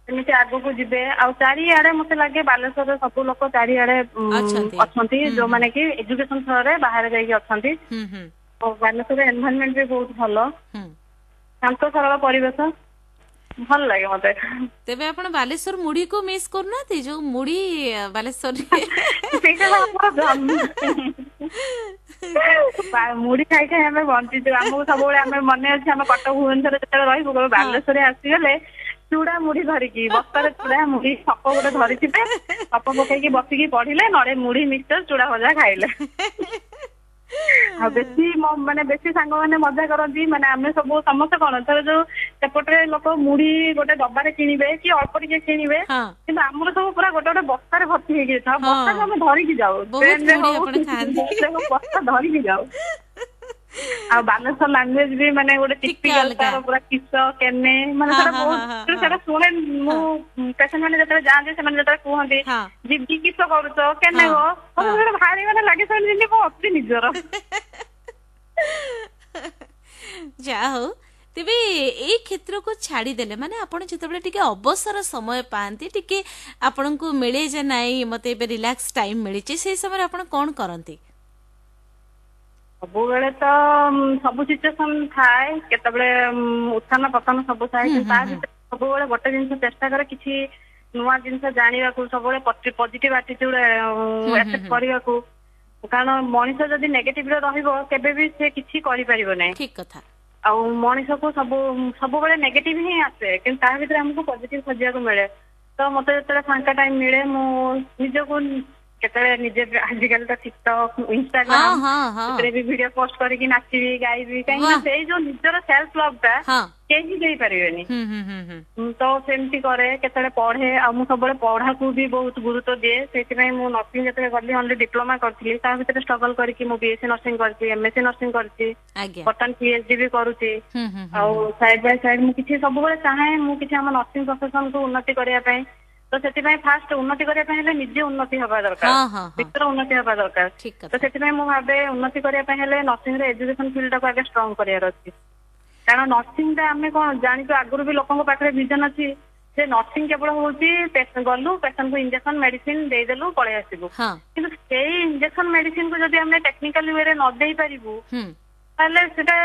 ସେମିତି ଆଗକୁ ଯିବେ। ଆଉ ଚାରିଆଡେ ମତେ ଲାଗେ ବାଲେଶ୍ୱରରେ ସବୁ ଲୋକ ଚାରିଆଡେ ଅଛନ୍ତି, ଯୋଉମାନେ କି ଏଜୁକେସନ ଥ୍ରୋରେ ବାହାରେ ଯାଇକି ଅଛନ୍ତି। ବାଲେଶ୍ୱର ଏନଭାରମେଣ୍ଟ ବି ବହୁତ ଭଲ, ଶାନ୍ତ ସରଳ ପରିବେଶ, ଭଲ ଲାଗେ ମତେ। ତେବେ ଆପଣ ବାଲେଶ୍ୱର ମୁଢିକୁ ମିସ୍ କରୁନାହାନ୍ତି? ଯୋଉ ମୁଢି ବାଲେଶ୍ୱରରେ, ସେଇଟା ଆମର ମୁଢି ଖାଇ ଖାଇ ଆମେ ବଞ୍ଚିଛୁ। ଆମକୁ ସବୁବେଳେ ଆମେ ମନେ ଅଛି, ଆମେ କଟକ ଭୁବନେଶ୍ୱରରେ ଯେତେବେଳେ ରହିବୁ, ବାଲେଶ୍ୱରରେ ଆସିଗଲେ ଚୁଡା ମୁଢି ଧରିକି, ବସ୍ତାରେ ଚୁଡା ମୁଢି ସପ ଗୋଟେ ଧରିଥିବେ, ସପ ପକେଇକି ବସିକି ପଢିଲେ, ନହେଲେ ମୁଢି ମିକ୍ସଚର ଚୁଡା ଭଜା ଖାଇଲେ। ଆଉ ବେଶୀ ମାନେ ବେଶୀ ସାଙ୍ଗମାନେ ମଜା କରନ୍ତି, ମାନେ ଆମେ ସବୁ ସମସ୍ତେ କଣ ଥରେ ଯୋଉ ସେପଟରେ ଲୋକ ମୁଢି ଗୋଟେ ଡବାରେ କିଣିବେ କି ଅଳ୍ପ ଟିକେ କିଣିବେ, କିନ୍ତୁ ଆମର ସବୁ ପୁରା ଗୋଟେ ଗୋଟେ ବସ୍ତାରେ ଭର୍ତ୍ତି ହେଇକି ଥାଉ, ବସ୍ତାକୁ ଆମେ ଧରିକି ଯାଉ, ଟ୍ରେନରେ ହଉ ବସ୍ତା ଧରିକି ଯାଉ। ଆଉ ବାଲେଶ୍ୱର ଲାଙ୍ଗୁଏଜ ବି ମାନେ ଗୋଟେ ଟିକେ ଟିପିକାଲ ଅଲଗା। ତାର ପୁରା କିସ କେନେ, ମାନେ ହଁ ସେଟା ହଁ ବହୁତ ହଁ ହଁ ସେଟା ଶୁଣେ ମୁଁ। ପେସେଣ୍ଟ ମାନେ ଯେତେବେଳେ ଯାଆନ୍ତି, ସେମାନେ ଯେତେବେଳେ କୁହନ୍ତି, ଦିଦି କିସ କରୁଛ, କେନେ ଗୋ, ମତେ ସେଟା ଭାରି ମାନେ ଲାଗେ ସେମାନେ ଯେମିତି ମୋ ଅତି ନିଜର। ଯାହା ହଉ। ତେବେ ଏଇ କ୍ଷେତ୍ରକୁ ଛାଡ଼ିଦେଲେ, ମାନେ ଆପଣ ଯେତେବେଳେ ଟିକେ ଅବସର ସମୟ ପାଆନ୍ତି, ଟିକେ ଆପଣଙ୍କୁ ମିଳେ ଯେ ନାଇଁ ମତେ ଏବେ ରିଲାକ୍ସ ଟାଇମ ମିଳିଛି, ସେଇ ସମୟରେ ଆପଣ କଣ କରନ୍ତି? ସବୁବେଳେ ତ ସବୁ ସିଚୁଏସନ ଥାଏ, କେତେବେଳେ ଉତ୍ଥାନ ପତନ ସବୁ ଥାଏ। କିନ୍ତୁ ତା ଭିତରେ ସବୁବେଳେ ଗୋଟେ ଜିନିଷ ଚେଷ୍ଟା କରେ କିଛି ନୂଆ ଜିନିଷ ଜାଣିବାକୁ, ସବୁବେଳେ ପଜିଟିଭ ଆଟିଚ୍ୟୁଡ ଆକ୍ସେପ୍ଟ କରିବାକୁ। କାରଣ ମଣିଷ ଯଦି ନେଗେଟିଭରେ ରହିବ, କେବେ ବି ସେ କିଛି କରିପାରିବ ନାହିଁ। ଠିକ କଥା। ଆଉ ମଣିଷକୁ ସବୁବେଳେ ନେଗେଟିଭ ହିଁ ଆସେ, କିନ୍ତୁ ତା ଭିତରେ ଆମକୁ ପଜିଟିଭ ଖୋଜିବାକୁ ମିଳେ। ତ ମତେ ଯେତେବେଳେ ଫାଙ୍କା ଟାଇମ ମିଳେ, ମୁଁ ନିଜକୁ କେତେବେଳେ ନିଜେ, ଆଜିକାଲି ତ ଟିକଟକ୍, ଇନଷ୍ଟାଗ୍ରାମ, ହଁ ହଁ ସେଥିରେ ବି ଭିଡିଓ ପୋଷ୍ଟ କରିକି ନାଚିବି, ଗାଇବି। କାହିଁକି ନା ସେଇ ଯୋଉ ନିଜର ସେଲ୍ଫ ଲଭ୍ ଟା କେହି ଦେଇପାରିବେନି। ହୁଁ ହୁଁ ହୁଁ ହୁଁ ତ ସେମିତି କରେ, କେତେବେଳେ ପଢେ। ଆଉ ମୁଁ ସବୁବେଳେ ପଢାକୁ ବି ବହୁତ ଗୁରୁତ୍ୱ ଦିଏ। ସେଇଥିପାଇଁ ମୁଁ ନର୍ସିଂ ଯେତେବେଳେ ଗଲି, ଅନଲି ଡିପ୍ଲୋମା କରିଥିଲି। ତା ଭିତରେ ଷ୍ଟ୍ରଗଲ କରିକି ମୁଁ ବିଏସସି ନର୍ସିଂ କରିଛି, ଏମଏସସି ନର୍ସିଂ କରିଛି, ବର୍ତ୍ତମାନ ପିଏଚଡି ବି କରୁଛି। ହୁଁ ହୁଁ ଆଉ ସାଇଡ ବାଇ ସାଇଡ ମୁଁ କିଛି ସବୁବେଳେ ଚାହେଁ ମୁଁ କିଛି ଆମ ନର୍ସିଂ ପ୍ରଫେସନ କୁ ଉନ୍ନତି କରିବା ପାଇଁ। ତ ସେଥିପାଇଁ ଫାଷ୍ଟ ଉନ୍ନତି କରିବା ପାଇଁ ହେଲେ ନିଜେ ଉନ୍ନତି ହବା ଦରକାର, ହଁ ହଁ ହଁ ଭିତର ଉନ୍ନତି ହବା ଦରକାର। ଠିକ ତ କଥା। ସେଥିପାଇଁ ମୁଁ ଭାବେ ଉନ୍ନତି କରିବା ପାଇଁ ହେଲେ ନର୍ସିଂ ର ଏଜୁକେସନ ଫିଲ୍ଡ ଟାକୁ ଆଗେ ଷ୍ଟ୍ରଙ୍ଗ କରିବାର ଅଛି। କାରଣ ନର୍ସିଂ ଟା ଆମେ କଣ ଜାଣିଛୁ, ଆଗରୁ ବି ଲୋକଙ୍କ ପାଖରେ ଭିଜନ ଅଛି ଯେ ନର୍ସିଂ କେବଳ ହଉଛି ଗଲୁ, ପେସେଣ୍ଟ କୁ ଇଞ୍ଜେକ୍ସନ ମେଡିସିନ ଦେଇଦେଲୁ, ପଳେଇ ଆସିବୁ। କିନ୍ତୁ ସେଇ ଇଞ୍ଜେକ୍ସନ ମେଡିସିନ କୁ ଯଦି ଆମେ ଟେକ୍ନିକାଲ ୱେରେ ନ ଦେଇ ପାରିବୁ, ତାହେଲେ ସେଟା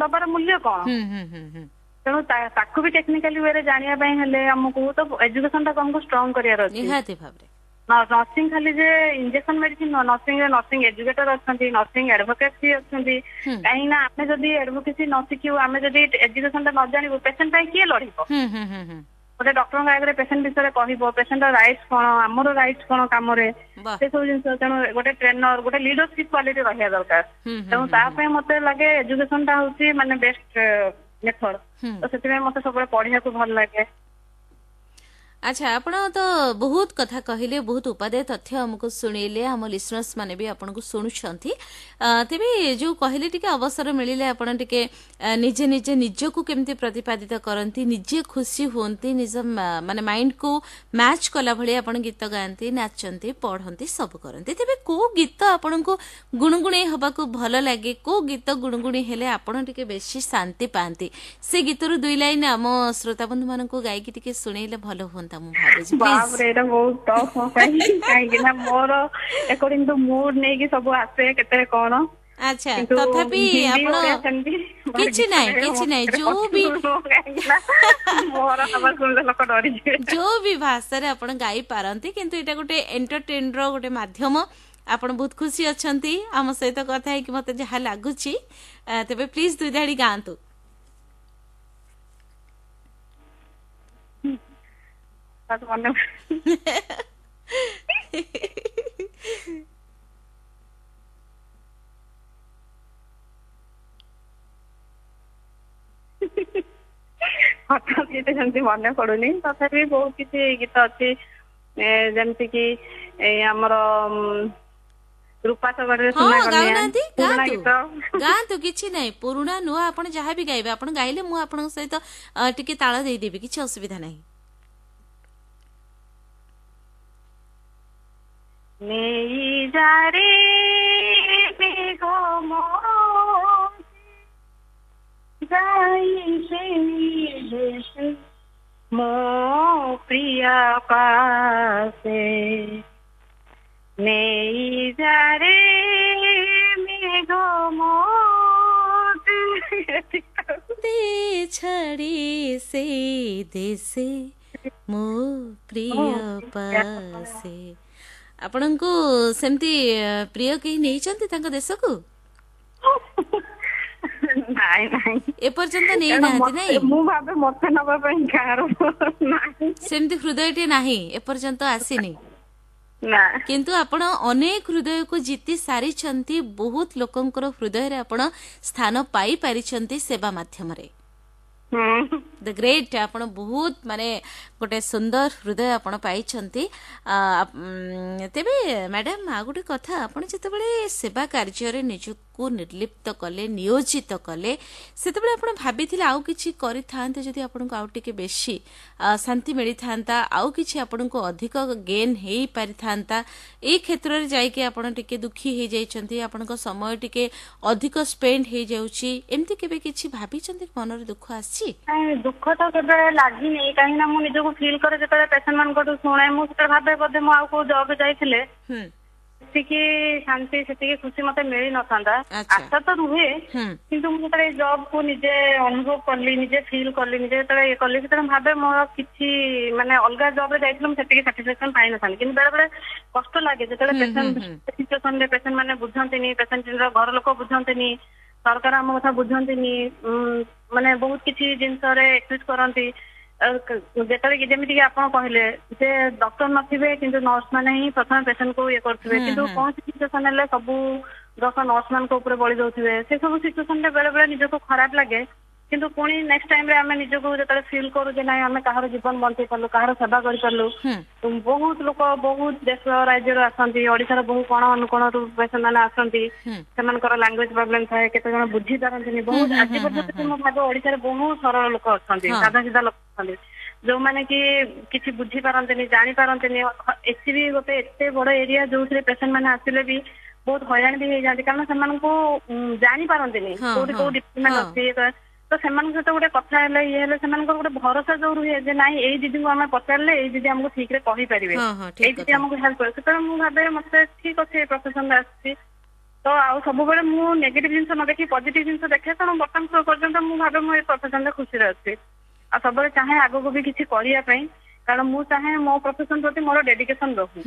ଦବାର ମୂଲ୍ୟ କଣ? ହୁଁ ହୁଁ ହୁଁ ହୁଁ ତେଣୁ ତାକୁ ବି ଟେକ୍ନିକାଲି ୱେରେ ଜାଣିବା ପାଇଁ ହେଲେ ଆମକୁ ତ ଏଜୁକେସନ ଟାକୁ ଆମକୁ ଷ୍ଟ୍ରଙ୍ଗ କରିବାର ଅଛି। ନିହାତି ଭାବରେ। ନର୍ସିଂ ଖାଲି ଯେ ଇଞ୍ଜେକ୍ସନ ମେଡିସିନ ନୁହଁ, ନର୍ସିଂ ରେ ନର୍ସିଂ ଏଜୁକେଟର ଅଛନ୍ତି, ନର୍ସିଂ ଆଡଭୋକେସି ଅଛନ୍ତି। କାହିଁକି ନା ଆମେ ଯଦି ଆଡଭୋକେସି ନ ଶିଖିବୁ, ଆମେ ଯଦି ଏଜୁକେସନ ଟା ନ ଜାଣିବୁ, ପେସେଣ୍ଟ ପାଇଁ କିଏ ଲଢିବ? ହୁଁ ହୁଁ ହୁଁ ହୁଁ ଗୋଟେ ଡକ୍ଟରଙ୍କ ଆଗରେ ପେସେଣ୍ଟ ବିଷୟରେ କହିବ, ପେସେଣ୍ଟର ରାଇଟ୍ସ କଣ, ଆମର ରାଇଟ୍ସ କଣ କାମରେ, ସେ ସବୁ ଜିନିଷ। ତେଣୁ ଗୋଟେ ଟ୍ରେନର, ଗୋଟେ ଲିଡରସିପ କ୍ୱାଲିଟି ରହିବା ଦରକାର। ହୁଁ ହୁଁ ତେଣୁ ତା ପାଇଁ ମତେ ଲାଗେ ଏଜୁକେସନ ଟା ହଉଛି ମାନେ ବେଷ୍ଟ ମେଥଡ। ତ ସେଥିପାଇଁ ମତେ ସବୁବେଳେ ପଢିବାକୁ ଭଲ ଲାଗେ। ଆଚ୍ଛା, ଆପଣ ତ ବହୁତ କଥା କହିଲେ, ବହୁତ ଉପାଦେୟ ତଥ୍ୟ ଆମକୁ ଶୁଣେଇଲେ, ଆମ ଲିସନର୍ସ ମାନେ ବି ଆପଣଙ୍କୁ ଶୁଣୁଛନ୍ତି। ତେବେ ଯୋଉ କହିଲେ ଟିକେ ଅବସର ମିଳିଲେ ଆପଣ ଟିକେ ନିଜେ ନିଜେ ନିଜକୁ କେମିତି ପ୍ରତିପାଦିତ କରନ୍ତି, ନିଜେ ଖୁସି ହୁଅନ୍ତି, ନିଜ ମାନେ ମାଇଣ୍ଡକୁ ମ୍ୟାଚ୍ କଲା ଭଳି ଆପଣ ଗୀତ ଗାଆନ୍ତି, ନାଚନ୍ତି, ପଢନ୍ତି, ସବୁ କରନ୍ତି। ତେବେ କୋଉ ଗୀତ ଆପଣଙ୍କୁ ଗୁଣୁଗୁଣେଇ ହବାକୁ ଭଲ ଲାଗେ? କୋଉ ଗୀତ ଗୁଣୁଗୁଣେଇ ହେଲେ ଆପଣ ଟିକେ ବେଶୀ ଶାନ୍ତି ପାଆନ୍ତି? ସେ ଗୀତରୁ ଦୁଇ ଲାଇନ ଆମ ଶ୍ରୋତା ବନ୍ଧୁ ମାନଙ୍କୁ ଗାଇକି ଟିକେ ଶୁଣେଇଲେ ଭଲ ହୁଅନ୍ତା ମୁଁ ଭାବୁଛି, ପ୍ଲିଜ। ବାପରେ, ଏଇଟା ବହୁତ ଟଫ୍ ମୋ ପାଇଁ। କାହିଁକି ନା ମୋର ଆକର୍ଡିଂ ଟୁ ମୁଡ୍ ନେଇକି ସବୁ ଆସେ, କେତେବେଳେ କଣ। ଆଚ୍ଛା କିନ୍ତୁ ତଥାପି ହିନ୍ଦୀ, ଆପଣ ଓଡିଆ ସେମିତି ମୋର କିଛି ଗୀତ ନାହିଁ, ଗାଇବା କିଛି ମୋ ନାହିଁ, ପାଖରେ ଯୋଉ ବି possible ନୁହଁ, କାହିଁକି ନା ମୋର ଆବାଜ ଶୁଣିଲେ ଲୋକ ଡରିଯିବେ। ଯୋଉ ବି ଭାଷାରେ ଆପଣ ଗାଇ ପାରନ୍ତି, କିନ୍ତୁ ଏଇଟା ଗୋଟେ ଏଣ୍ଟରଟେନ ର ଗୋଟେ ମାଧ୍ୟମ। ଆପଣ ବହୁତ ଖୁସି ଅଛନ୍ତି ଆମ ସହିତ କଥା ହେଇକି, ମତେ ଯାହା ଲାଗୁଛି। ତେବେ ପ୍ଲିଜ ଦୁଇ ଧାଡି ଗାଆନ୍ତୁ। ତାକୁ ମନେ ହଠାତ୍ କିଛି ସେମିତି ମନେ ପଡୁନି। ତଥାପି ବହୁତ କିଛି ଗୀତ ଅଛି, ଯେମିତି କି ଏଇ ଆମର ରୂପା ଶଗଡରେ ସୁନା କନିଆ, ଗାଉନାହାନ୍ତି? ପୁରୁଣା ଗାଆନ୍ତୁ। ଗୀତ। ଗାଆନ୍ତୁ, କିଛି ନାହିଁ। ପୁରୁଣା ନୂଆ ଆପଣ ଯାହା ବି ଗାଇବେ, ଆପଣ ଗାଇଲେ ମୁଁ ଆପଣଙ୍କ ସହିତ ଟିକେ ତାଳ ଦେଇଦେବି, କିଛି ଅସୁବିଧା ନାହିଁ। ନେଇ ଯାରେ ମେଘ ମୋତେ ଯାଇ ସେଇ ଦେଶେ ମୋ ପ୍ରିୟା ପାସେ, ନେଇ ଯାରେ ମେଘ ମୋତେ ଦେ ଛାଡ଼ି ସେଇ ଦେଶେ ମୋ ପ୍ରିୟ ପାସେ। ଆପଣଙ୍କୁ ସେମିତି ପ୍ରିୟ କେହି ନେଇଛନ୍ତି ତାଙ୍କ ଦେଶକୁ? ନାଇଁ ନାଇଁ, ଏପର୍ଯ୍ୟନ୍ତ କାରଣ ନେଇନାହାନ୍ତି? ମତେ ନାଇଁ, ମୁଁ ଭାବେ ମତେ ନବା ପାଇଁ କାହାର ନାହିଁ। ସେମିତି ହୃଦୟଟି ନାହିଁ, ଏପର୍ଯ୍ୟନ୍ତ ଆସିନି। ନା। କିନ୍ତୁ ଆପଣ ଅନେକ ହୃଦୟକୁ ଜିତି ସାରିଛନ୍ତି, ବହୁତ ଲୋକଙ୍କର ହୃଦୟରେ ଆପଣ ସ୍ଥାନ ପାଇପାରିଛନ୍ତି ସେବା ମାଧ୍ୟମରେ। The great. ଆପଣ ବହୁତ ମାନେ ଗୋଟେ ସୁନ୍ଦର ହୃଦୟ ଆପଣ ପାଇଛନ୍ତି। ତେବେ ମ୍ୟାଡାମ, ଆଉ ଗୋଟେ କଥା, ଆପଣ ଯେତେବେଳେ ସେବା କାର୍ଯ୍ୟରେ ନିଜକୁ ନିଜକୁ ନିର୍ଲିପ୍ତ କଲେ, ନିୟୋଜିତ କଲେ, ସେତେବେଳେ ଆପଣ ଭାବିଥିଲେ ଆଉ କିଛି କରିଥାନ୍ତେ ଯଦି ଆପଣଙ୍କୁ ଆଉ ଟିକେ ବେଶୀ ଶାନ୍ତି ମିଳିଥାନ୍ତା, ଆଉ କିଛି ଆପଣଙ୍କୁ ଅଧିକ ଗେନ୍ ହେଇପାରିଥାନ୍ତା? ଏଇ କ୍ଷେତ୍ରରେ ଯାଇକି ଆପଣ ଟିକେ ଦୁଃଖୀ ହେଇଯାଇଛନ୍ତି, ଆପଣଙ୍କ ସମୟ ଟିକେ ଅଧିକ ସ୍ପେଣ୍ଡ ହେଇଯାଉଛି, ଏମିତି କେବେ କିଛି ଭାବିଛନ୍ତି? ମନରେ ଦୁଃଖ ଆସିଛି? ଦୁଃଖ ତ କେବେ ଲାଗିନି, କାହିଁକି ନା ମୁଁ ନିଜକୁ ଫିଲ୍ କରେ ଯେତେବେଳେ ପେସେଣ୍ଟ ମାନଙ୍କଠୁ ଶୁଣେ, ମୁଁ ସେତେବେଳେ ଭାବେ ବୋଧେ ମୁଁ ଆଉ କୋଉ ଜବ୍ ଯାଇଥିଲେ ସେତିକି ଶାନ୍ତି, ସେତିକି ଖୁସି ମତେ ମିଳି ନଥାନ୍ତା। ଆଶା ତ ରୁହେ, କିନ୍ତୁ ମୁଁ ଯେତେବେଳେ ଏଇ ଜବ୍ କୁ ନିଜେ ଅନୁଭବ କଲି, ନିଜେ ଫିଲ୍ କଲି, ନିଜେ ଯେତେବେଳେ ଇଏ କଲି, ସେତେବେଳେ ଭାବେ ମୋର କିଛି ମାନେ ଅଲଗା ଜବ୍ ରେ ଯାଇଥିଲେ ମୁଁ ସେତିକି ସାଟିସ୍ଫାକ୍ସନ ପାଇନଥାନ୍ତି। କିନ୍ତୁ ବେଳେ ବେଳେ କଷ୍ଟ ଲାଗେ ଯେତେବେଳେ ପେସେଣ୍ଟ ସିଚୁଏସନରେ ପେସେଣ୍ଟ ମାନେ ବୁଝନ୍ତିନି, ପେସେଣ୍ଟର ଘର ଲୋକ ବୁଝନ୍ତିନି, ସରକାର ଆମ କଥା ବୁଝନ୍ତିନି, ମାନେ ବହୁତ କିଛି ଜିନିଷରେ ଏକ୍ସକ୍ୟୁଜ କରନ୍ତି। ଯେତେବେଳେ କି ଯେମିତି କି ଆପଣ କହିଲେ ଯେ ଡକ୍ଟର ନଥିବେ, କିନ୍ତୁ ନର୍ସ ମାନେ ହିଁ ପ୍ରଥମେ ପେସେଣ୍ଟ କୁ ଇଏ କରୁଥିବେ, କିନ୍ତୁ କୌଣସି ସିଚୁଏସନ ହେଲେ ସବୁ ଦୋଷ ନର୍ସ ମାନଙ୍କ ଉପରେ ବଳି ଦଉଥିବେ। ସେ ସବୁ ସିଚୁଏସନରେ ବେଳେ ବେଳେ ନିଜକୁ ଖରାପ ଲାଗେ। କିନ୍ତୁ ପୁଣି ନେକ୍ସଟ ଟାଇମରେ ଆମେ ନିଜକୁ ଯେତେବେଳେ ଫିଲ୍ କରୁ ଯେ ନାଇଁ, ଆମେ କାହାର ଜୀବନ ବଞ୍ଚେଇ ପାରିଲୁ, କାହାର ସେବା କରିପାରିଲୁ। ବହୁତ ଲୋକ ବହୁତ ଦେଶ ରାଜ୍ୟରୁ ଆସନ୍ତି, ଓଡିଶାର ବହୁ କୋଣ ଅନୁକୋଣରୁ ପେସେଣ୍ଟ ମାନେ ଆସନ୍ତି। ସେମାନଙ୍କର ଲାଙ୍ଗୁଏଜ ପ୍ରୋବ୍ଲେମ ଥାଏ, କେତେ ଜଣ ବୁଝି ପାରନ୍ତିନି। ବହୁତ ଆଜି ପର୍ଯ୍ୟନ୍ତ ମୁଁ ଭାବେ ଓଡିଶାରେ ବହୁତ ସରଳ ଲୋକ ଅଛନ୍ତି, ସାଧା ସିଧା ଲୋକ ଅଛନ୍ତି, ଯୋଉମାନେ କି କିଛି ବୁଝି ପାରନ୍ତିନି, ଜାଣି ପାରନ୍ତିନି। ଏସିବି ଗୋଟେ ଏତେ ବଡ ଏରିଆ, ଯୋଉଥିରେ ପେସେଣ୍ଟ ମାନେ ଆସିଲେ ବି ବହୁତ ହଇରାଣ ବି ହେଇଯାନ୍ତି, କାରଣ ସେମାନଙ୍କୁ ଜାଣି ପାରନ୍ତିନି କୋଉଠି କୋଉ ଡିପାର୍ଟମେଣ୍ଟ ଅଛି। ତ ସେମାନଙ୍କ ସହିତ ଗୋଟେ କଥା ହେଲେ, ଇଏ ହେଲେ, ସେମାନଙ୍କର ଗୋଟେ ଭରସା ଯୋଉ ରୁହେ ଯେ ନାଇଁ, ଏଇ ଦିଦିଙ୍କୁ ଆମେ ପଚାରିଲେ ଏଇ ଦିଦି ଆମକୁ ଠିକ ରେ କହିପାରିବେ, ଏଇ ଦିଦି ଆମକୁ ହେଲ୍ପ କରିବେ, ସେତେବେଳେ ମୁଁ ଭାବେ ମତେ ଠିକ ଅଛି, ଏ ପ୍ରଫେସନରେ ଆସିଛି। ତ ଆଉ ସବୁବେଳେ ମୁଁ ନେଗେଟିଭ ଜିନିଷ ନ ଦେଖି ପଜିଟିଭ ଜିନିଷ ଦେଖେ। ତେଣୁ ବର୍ତ୍ତମାନ ପର୍ଯ୍ୟନ୍ତ ମୁଁ ଭାବେ ମୁଁ ଏ ପ୍ରଫେସନରେ ଖୁସିରେ ଅଛି ଆଉ ସବୁବେଳେ ଚାହେଁ ଆଗକୁ ବି କିଛି କରିବା ପାଇଁ, କାରଣ ମୁଁ ଚାହେଁ ମୋ ପ୍ରଫେସନ ପ୍ରତି ମୋର ଡେଡିକେସନ ରହୁ,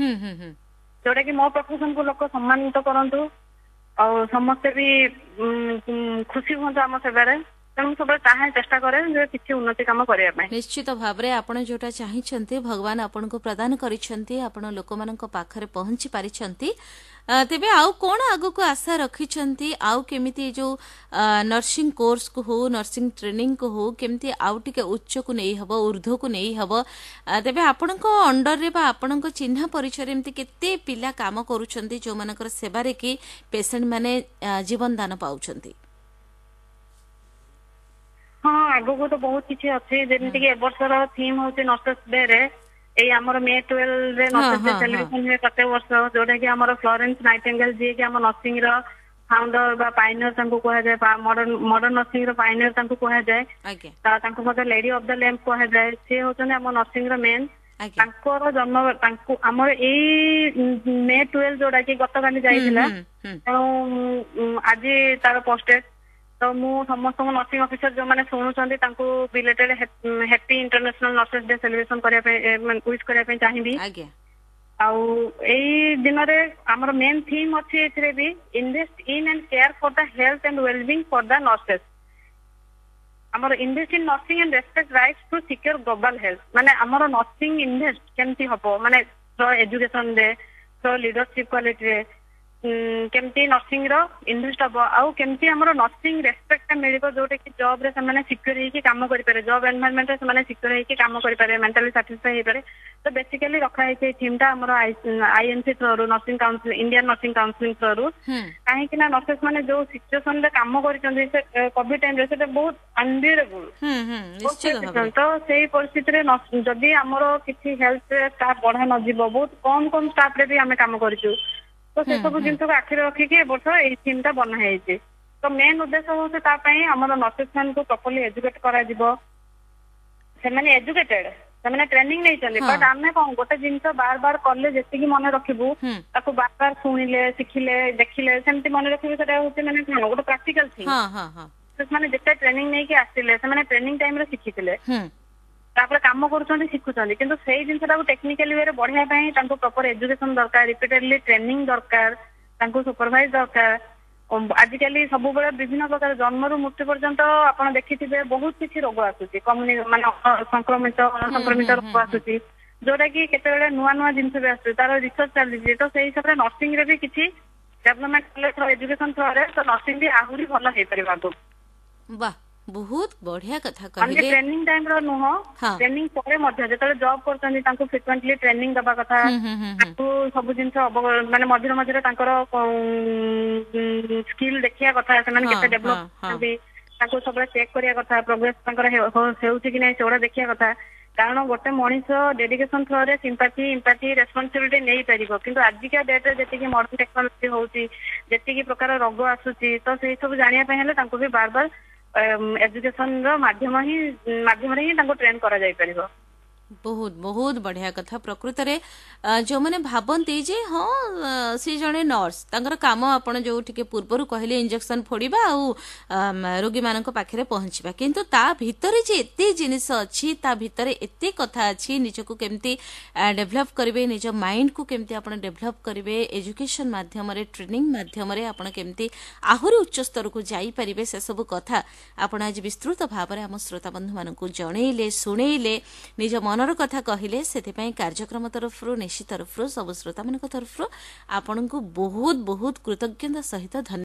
ଯୋଉଟା କି ମୋ ପ୍ରଫେସନକୁ ଲୋକ ସମ୍ମାନିତ କରନ୍ତୁ ଆଉ ସମସ୍ତେ ବି ଖୁସି ହୁଅନ୍ତୁ ଆମ ସେବାରେ। ତେଣୁ ମୁଁ ସବୁବେଳେ ଚାହେଁ, ଚେଷ୍ଟା କରେ ଯେ କିଛି ଉନ୍ନତି କାମ କରିବା ପାଇଁ। ନିଶ୍ଚିତ ଭାବରେ ଆପଣ ଯୋଉଟା ଚାହିଁଛନ୍ତି, ଭଗବାନ ଆପଣଙ୍କୁ ପ୍ରଦାନ କରିଛନ୍ତି, ଆପଣ ଲୋକମାନଙ୍କ ପାଖରେ ପହଞ୍ଚି ପାରିଛନ୍ତି। ତେବେ ଆଉ କଣ ଆଗକୁ ଆଶା ରଖିଛନ୍ତି? ଆଉ କେମିତି ଯୋଉ ନର୍ସିଂ କୋର୍ସକୁ ହଉ, ନର୍ସିଂ ଟ୍ରେନିଂକୁ ହଉ, କେମିତି ଆଉ ଟିକେ ଉଚ୍ଚକୁ ନେଇ ହବ, ଉର୍ଦ୍ଧ୍ୱକୁ ନେଇ ହବ? ତେବେ ଆପଣଙ୍କ ଅଣ୍ଡରରେ ବା ଆପଣଙ୍କ ଚିହ୍ନା ପରିଚୟରେ ଏମିତି କେତେ ପିଲା କାମ କରୁଛନ୍ତି, ଯୋଉମାନଙ୍କର ସେବାରେ କି ପେସେଣ୍ଟ ମାନେ ଜୀବନ ଦାନ ପାଉଛନ୍ତି? ହଁ, ଆଗକୁ ତ ବହୁତ କିଛି ଅଛି। ଯେମିତି କି ଏବର୍ଷର ଥିମ୍ ହଉଛି ନର୍ସେସ୍ ଡେ ରେ, ଏଇ ଆମର ମେ 12 ରେ ନର୍ସେସ୍ ଡେ ସେଲିବ୍ରେସନ ହୁଏ ପ୍ରତ୍ୟେକ ବର୍ଷ, ଯୋଉଟା କି ଆମର ଫ୍ଲୋରେନ୍ସ ନାଇଟେଙ୍ଗେଲ, ଯିଏକି ଆମ ନର୍ସିଂ ର ଫାଉଣ୍ଡର ବା ପାଇନିୟର ତାଙ୍କୁ କୁହାଯାଏ, ମଡର୍ନ ନର୍ସିଂ ର ପାଇନିୟର ତାଙ୍କୁ କୁହାଯାଏ, ତାଙ୍କୁ ମଧ୍ୟ ଲେଡି ଅଫ the lamp କୁହାଯାଏ। ସିଏ ହଉଛନ୍ତି ଆମ ନର୍ସିଂ ର ମେନ୍। ତାଙ୍କର ଜନ୍ମ, ତାଙ୍କୁ ଆମର ଏଇ ମେ 12 ଯୋଉଟା କି ଗତକାଲି ଯାଇଥିଲା, ତେଣୁ ଆଜି ତାର ପୋଷ୍ଟେଡ। ତ ମୁଁ ସମସ୍ତଙ୍କୁ, ନର୍ସିଂ ଅଫିସର ଯୋଉମାନେ ଶୁଣୁଛନ୍ତି, ତାଙ୍କୁ belated happy International Nurses Day celebration କରିବା ପାଇଁ, ୱିଶ କରିବା ପାଇଁ ଚାହିଁବି। ଆଉ ଏଇ ଦିନରେ ଆମର ମେନ୍ ଥିମ୍ ଅଛି ଏଥିରେ ବି invest in and care for the health and wellbeing for the nurses। ଆମର invest in nursing and respect rights to secure global health, ମାନେ ଆମର ନର୍ସିଂ ଇନଭେଷ୍ଟ କେମିତି ହବ, ମାନେ ଏଜୁକେସନରେ, ଲିଡରସିପ କ୍ୱାଲିଟିରେ କେମିତି ନର୍ସିଂ ର ଇନଭେଷ୍ଟ ହବ ଆଉ କେମିତି ଆମର ନର୍ସିଂ ରେସପେକ୍ଟ ଟା ମିଳିବ, ଯୋଉଟା କି ଜବ ରେ ସେମାନେ ସିକ୍ୟୁର ହେଇକି କାମ କରିପାରିବେ, ଜବ ଏନଭାରମେଣ୍ଟରେ ସେମାନେ ସିକ୍ୟୁର ହେଇକି କାମ କରିପାରିବେ, ମେଣ୍ଟାଲି ସାଟିସ୍ଫାଇ ହେଇପାରିବେ। ତ ବେସିକାଲି ରଖା ହେଇଛି ଏଇ ଥିମ୍ ଟା ଆମର ଆଇଏନସି ଥ୍ରୋରୁ, nursing council, Indian nursing counselling ଥ୍ରୋରୁ। କାହିଁକି ନା ନର୍ସେସ୍ ମାନେ ଯୋଉ ସିଚୁଏସନ ରେ କାମ କରିଛନ୍ତି ସେ କୋଭିଡ ଟାଇମରେ, ସେଟା ବହୁତ ଅନବିୟରେବୁଲ। ତ ସେଇ ପରିସ୍ଥିତିରେ ଯଦି ଆମର କିଛି ହେଲ୍ଥ ଷ୍ଟାଫ ବଢା ନଯିବ, ବହୁତ କମ କମ ଷ୍ଟାଫ ରେ ବି ଆମେ କାମ କରିଛୁ। ତ ସେ ସବୁ ଜିନିଷକୁ ଆଖିରେ ରଖିକି ଏ ବର୍ଷ ଏଇ ଥିମ୍ ଟା ବନା ହେଇଛି। ତ ମେନ୍ ଉଦ୍ଦେଶ୍ୟ ହଉଛି ତା ପାଇଁ ଆମର ନର୍ସେସ୍ ମାନଙ୍କୁ ପ୍ରପରଲି ଏଜୁକେଟ କରାଯିବ। ସେମାନେ ଏଜୁକେଟେଡ, ସେମାନେ ଟ୍ରେନିଂ ନେଇଛନ୍ତି, ବଟ୍ ଆମେ କଣ ଗୋଟେ ଜିନିଷ ବାର ବାର କଲେ ଯେତିକି ମନେ ରଖିବୁ, ତାକୁ ବାର ବାର ଶୁଣିଲେ, ଶିଖିଲେ, ଦେଖିଲେ ସେମିତି ମନେ ରଖିବୁ। ସେଟା ହଉଛି ମାନେ କଣ ଗୋଟେ ପ୍ରାକ୍ଟିକାଲ ଥିଙ୍ଗ। ସେମାନେ ଯେତେ ଟ୍ରେନିଂ ନେଇକି ଆସିଲେ, ସେମାନେ ଟ୍ରେନିଂ ଟାଇମରେ ଶିଖିଥିଲେ, ତାପରେ କାମ କରୁଛନ୍ତି, ଶିଖୁଛନ୍ତି, କିନ୍ତୁ ସେଇ ଜିନିଷଟାକୁ ଟେକ୍ନିକାଲି ୱେରେ ବଢିବା ପାଇଁ ତାଙ୍କୁ ପ୍ରପର ଏଜୁକେସନ ଦରକାର, ରିପିଟେଡଲି ଟ୍ରେନିଂ ଦରକାର, ତାଙ୍କୁ ସୁପରଭାଇଜ ଦରକାର। ଆଜିକାଲି ସବୁବେଳେ ବିଭିନ୍ନ ପ୍ରକାର, ଜନ୍ମରୁ ମୃତ୍ୟୁ ପର୍ଯ୍ୟନ୍ତ ଆପଣ ଦେଖିଥିବେ ବହୁତ କିଛି ରୋଗ ଆସୁଛି, ମାନେ ସଂକ୍ରମିତ, ଅଣସଂକ୍ରମିତ ରୋଗ ଆସୁଛି, ଯୋଉଟା କି କେତେବେଳେ ନୂଆ ନୂଆ ଜିନିଷ ବି ଆସୁଛି, ତାର ରିସର୍ଚ୍ଚ ଚାଲିଛି। ତ ସେଇ ହିସାବରେ ନର୍ସିଂ ରେ ବି କିଛି ଡେଭଲପମେଣ୍ଟ କଲେ ଏଜୁକେସନ ଥ୍ରୋରେ, ତ ନର୍ସିଂ ବି ଆହୁରି ଭଲ ହେଇପାରିବ ଆଗକୁ। ବାহ। ବହୁତ ବଢିଆ କଥା ମାନେ କହିଲେ। ଟ୍ରେନିଂ ଟାଇମ ର ନୁହଁ, ହଁ ଟ୍ରେନିଂ ପରେ ମଧ୍ୟ ଯେତେବେଳେ ଜବ୍ କରୁଛନ୍ତି ତାଙ୍କୁ ଫ୍ରିକ୍ୱେଣ୍ଟଲି ଟ୍ରେନିଂ ଦବା କଥା, ହୁଁ ହୁଁ ହୁଁ ହୁଁ ତାଙ୍କୁ ସବୁ ଜିନିଷ ମାନେ ମଝିରେ ମଝିରେ ତାଙ୍କର ସ୍କିଲ୍ ଦେଖିବା କଥା, ସେମାନେ ହଁ କେତେ ହଁ ଡେଭଲପ ହଁ କରୁଛନ୍ତି, ତାଙ୍କୁ ସବୁବେଳେ ଚେକ୍ କରିବା କଥା, ପ୍ରୋଗ୍ରେସ ତାଙ୍କର ହେଉଛି କି ନାହିଁ ସେଗୁଡା ଦେଖିବା କଥା। କାରଣ ଗୋଟେ ମଣିଷ ଡେଡିକେସନ ଥ୍ରୋରେ ସିମ୍ପାଥି, ଇମ୍ପାଥି, ରେସ୍ପନ୍ସିବିଲିଟି ନେଇପାରିବ, କିନ୍ତୁ ଆଜିକା ଡେଟରେ ଯେତିକି ମଡର୍ନ ଟେକ୍ନୋଲୋଜି ହଉଛି, ଯେତିକି ପ୍ରକାର ରୋଗ ଆସୁଛି, ତ ସେଇ ସବୁ ଜାଣିବା ପାଇଁ ହେଲେ ତାଙ୍କୁ ବି ବାର ବାର ଏଜୁକେସନ ର ମାଧ୍ୟମ ହିଁ ମାଧ୍ୟମରେ ହିଁ ତାଙ୍କୁ ଟ୍ରେନ କରାଯାଇ ପାରିବ। ବହୁତ ବହୁତ ବଢିଆ କଥା। ପ୍ରକୃତରେ ଯୋଉମାନେ ଭାବନ୍ତି ଯେ ହଁ ସେ ଜଣେ ନର୍ସ, ତାଙ୍କର କାମ ଆପଣ ଯୋଉ ଟିକେ ପୂର୍ବରୁ କହିଲେ ଇଞ୍ଜେକ୍ସନ ଫୋଡିବା ଆଉ ରୋଗୀମାନଙ୍କ ପାଖରେ ପହଞ୍ଚିବା, କିନ୍ତୁ ତା ଭିତରେ ଯେ ଏତେ ଜିନିଷ ଅଛି, ତା ଭିତରେ ଏତେ କଥା ଅଛି, ନିଜକୁ କେମିତି ଡେଭଲପ କରିବେ, ନିଜ ମାଇଣ୍ଡକୁ କେମିତି ଆପଣ ଡେଭଲପ କରିବେ, ଏଜୁକେସନ ମାଧ୍ୟମରେ, ଟ୍ରେନିଂ ମାଧ୍ୟମରେ ଆପଣ କେମିତି ଆହୁରି ଉଚ୍ଚ ସ୍ତରକୁ ଯାଇପାରିବେ, ସେସବୁ କଥା ଆପଣ ଆଜି ବିସ୍ତୃତ ଭାବରେ ଆମ ଶ୍ରୋତା ବନ୍ଧୁମାନଙ୍କୁ ଜଣେଇଲେ, ଶୁଣେଇଲେ, ନିଜ ମନର କଥା କହିଲେ। ସେଥିପାଇଁ କାର୍ଯ୍ୟକ୍ରମ ତରଫରୁ, ନିଶି ତରଫରୁ, ସବୁ ଶ୍ରୋତାମାନଙ୍କ ତରଫରୁ ଆପଣଙ୍କୁ ବହୁତ ବହୁତ କୃତଜ୍ଞତା ସହିତ ଧନ୍ୟବାଦ।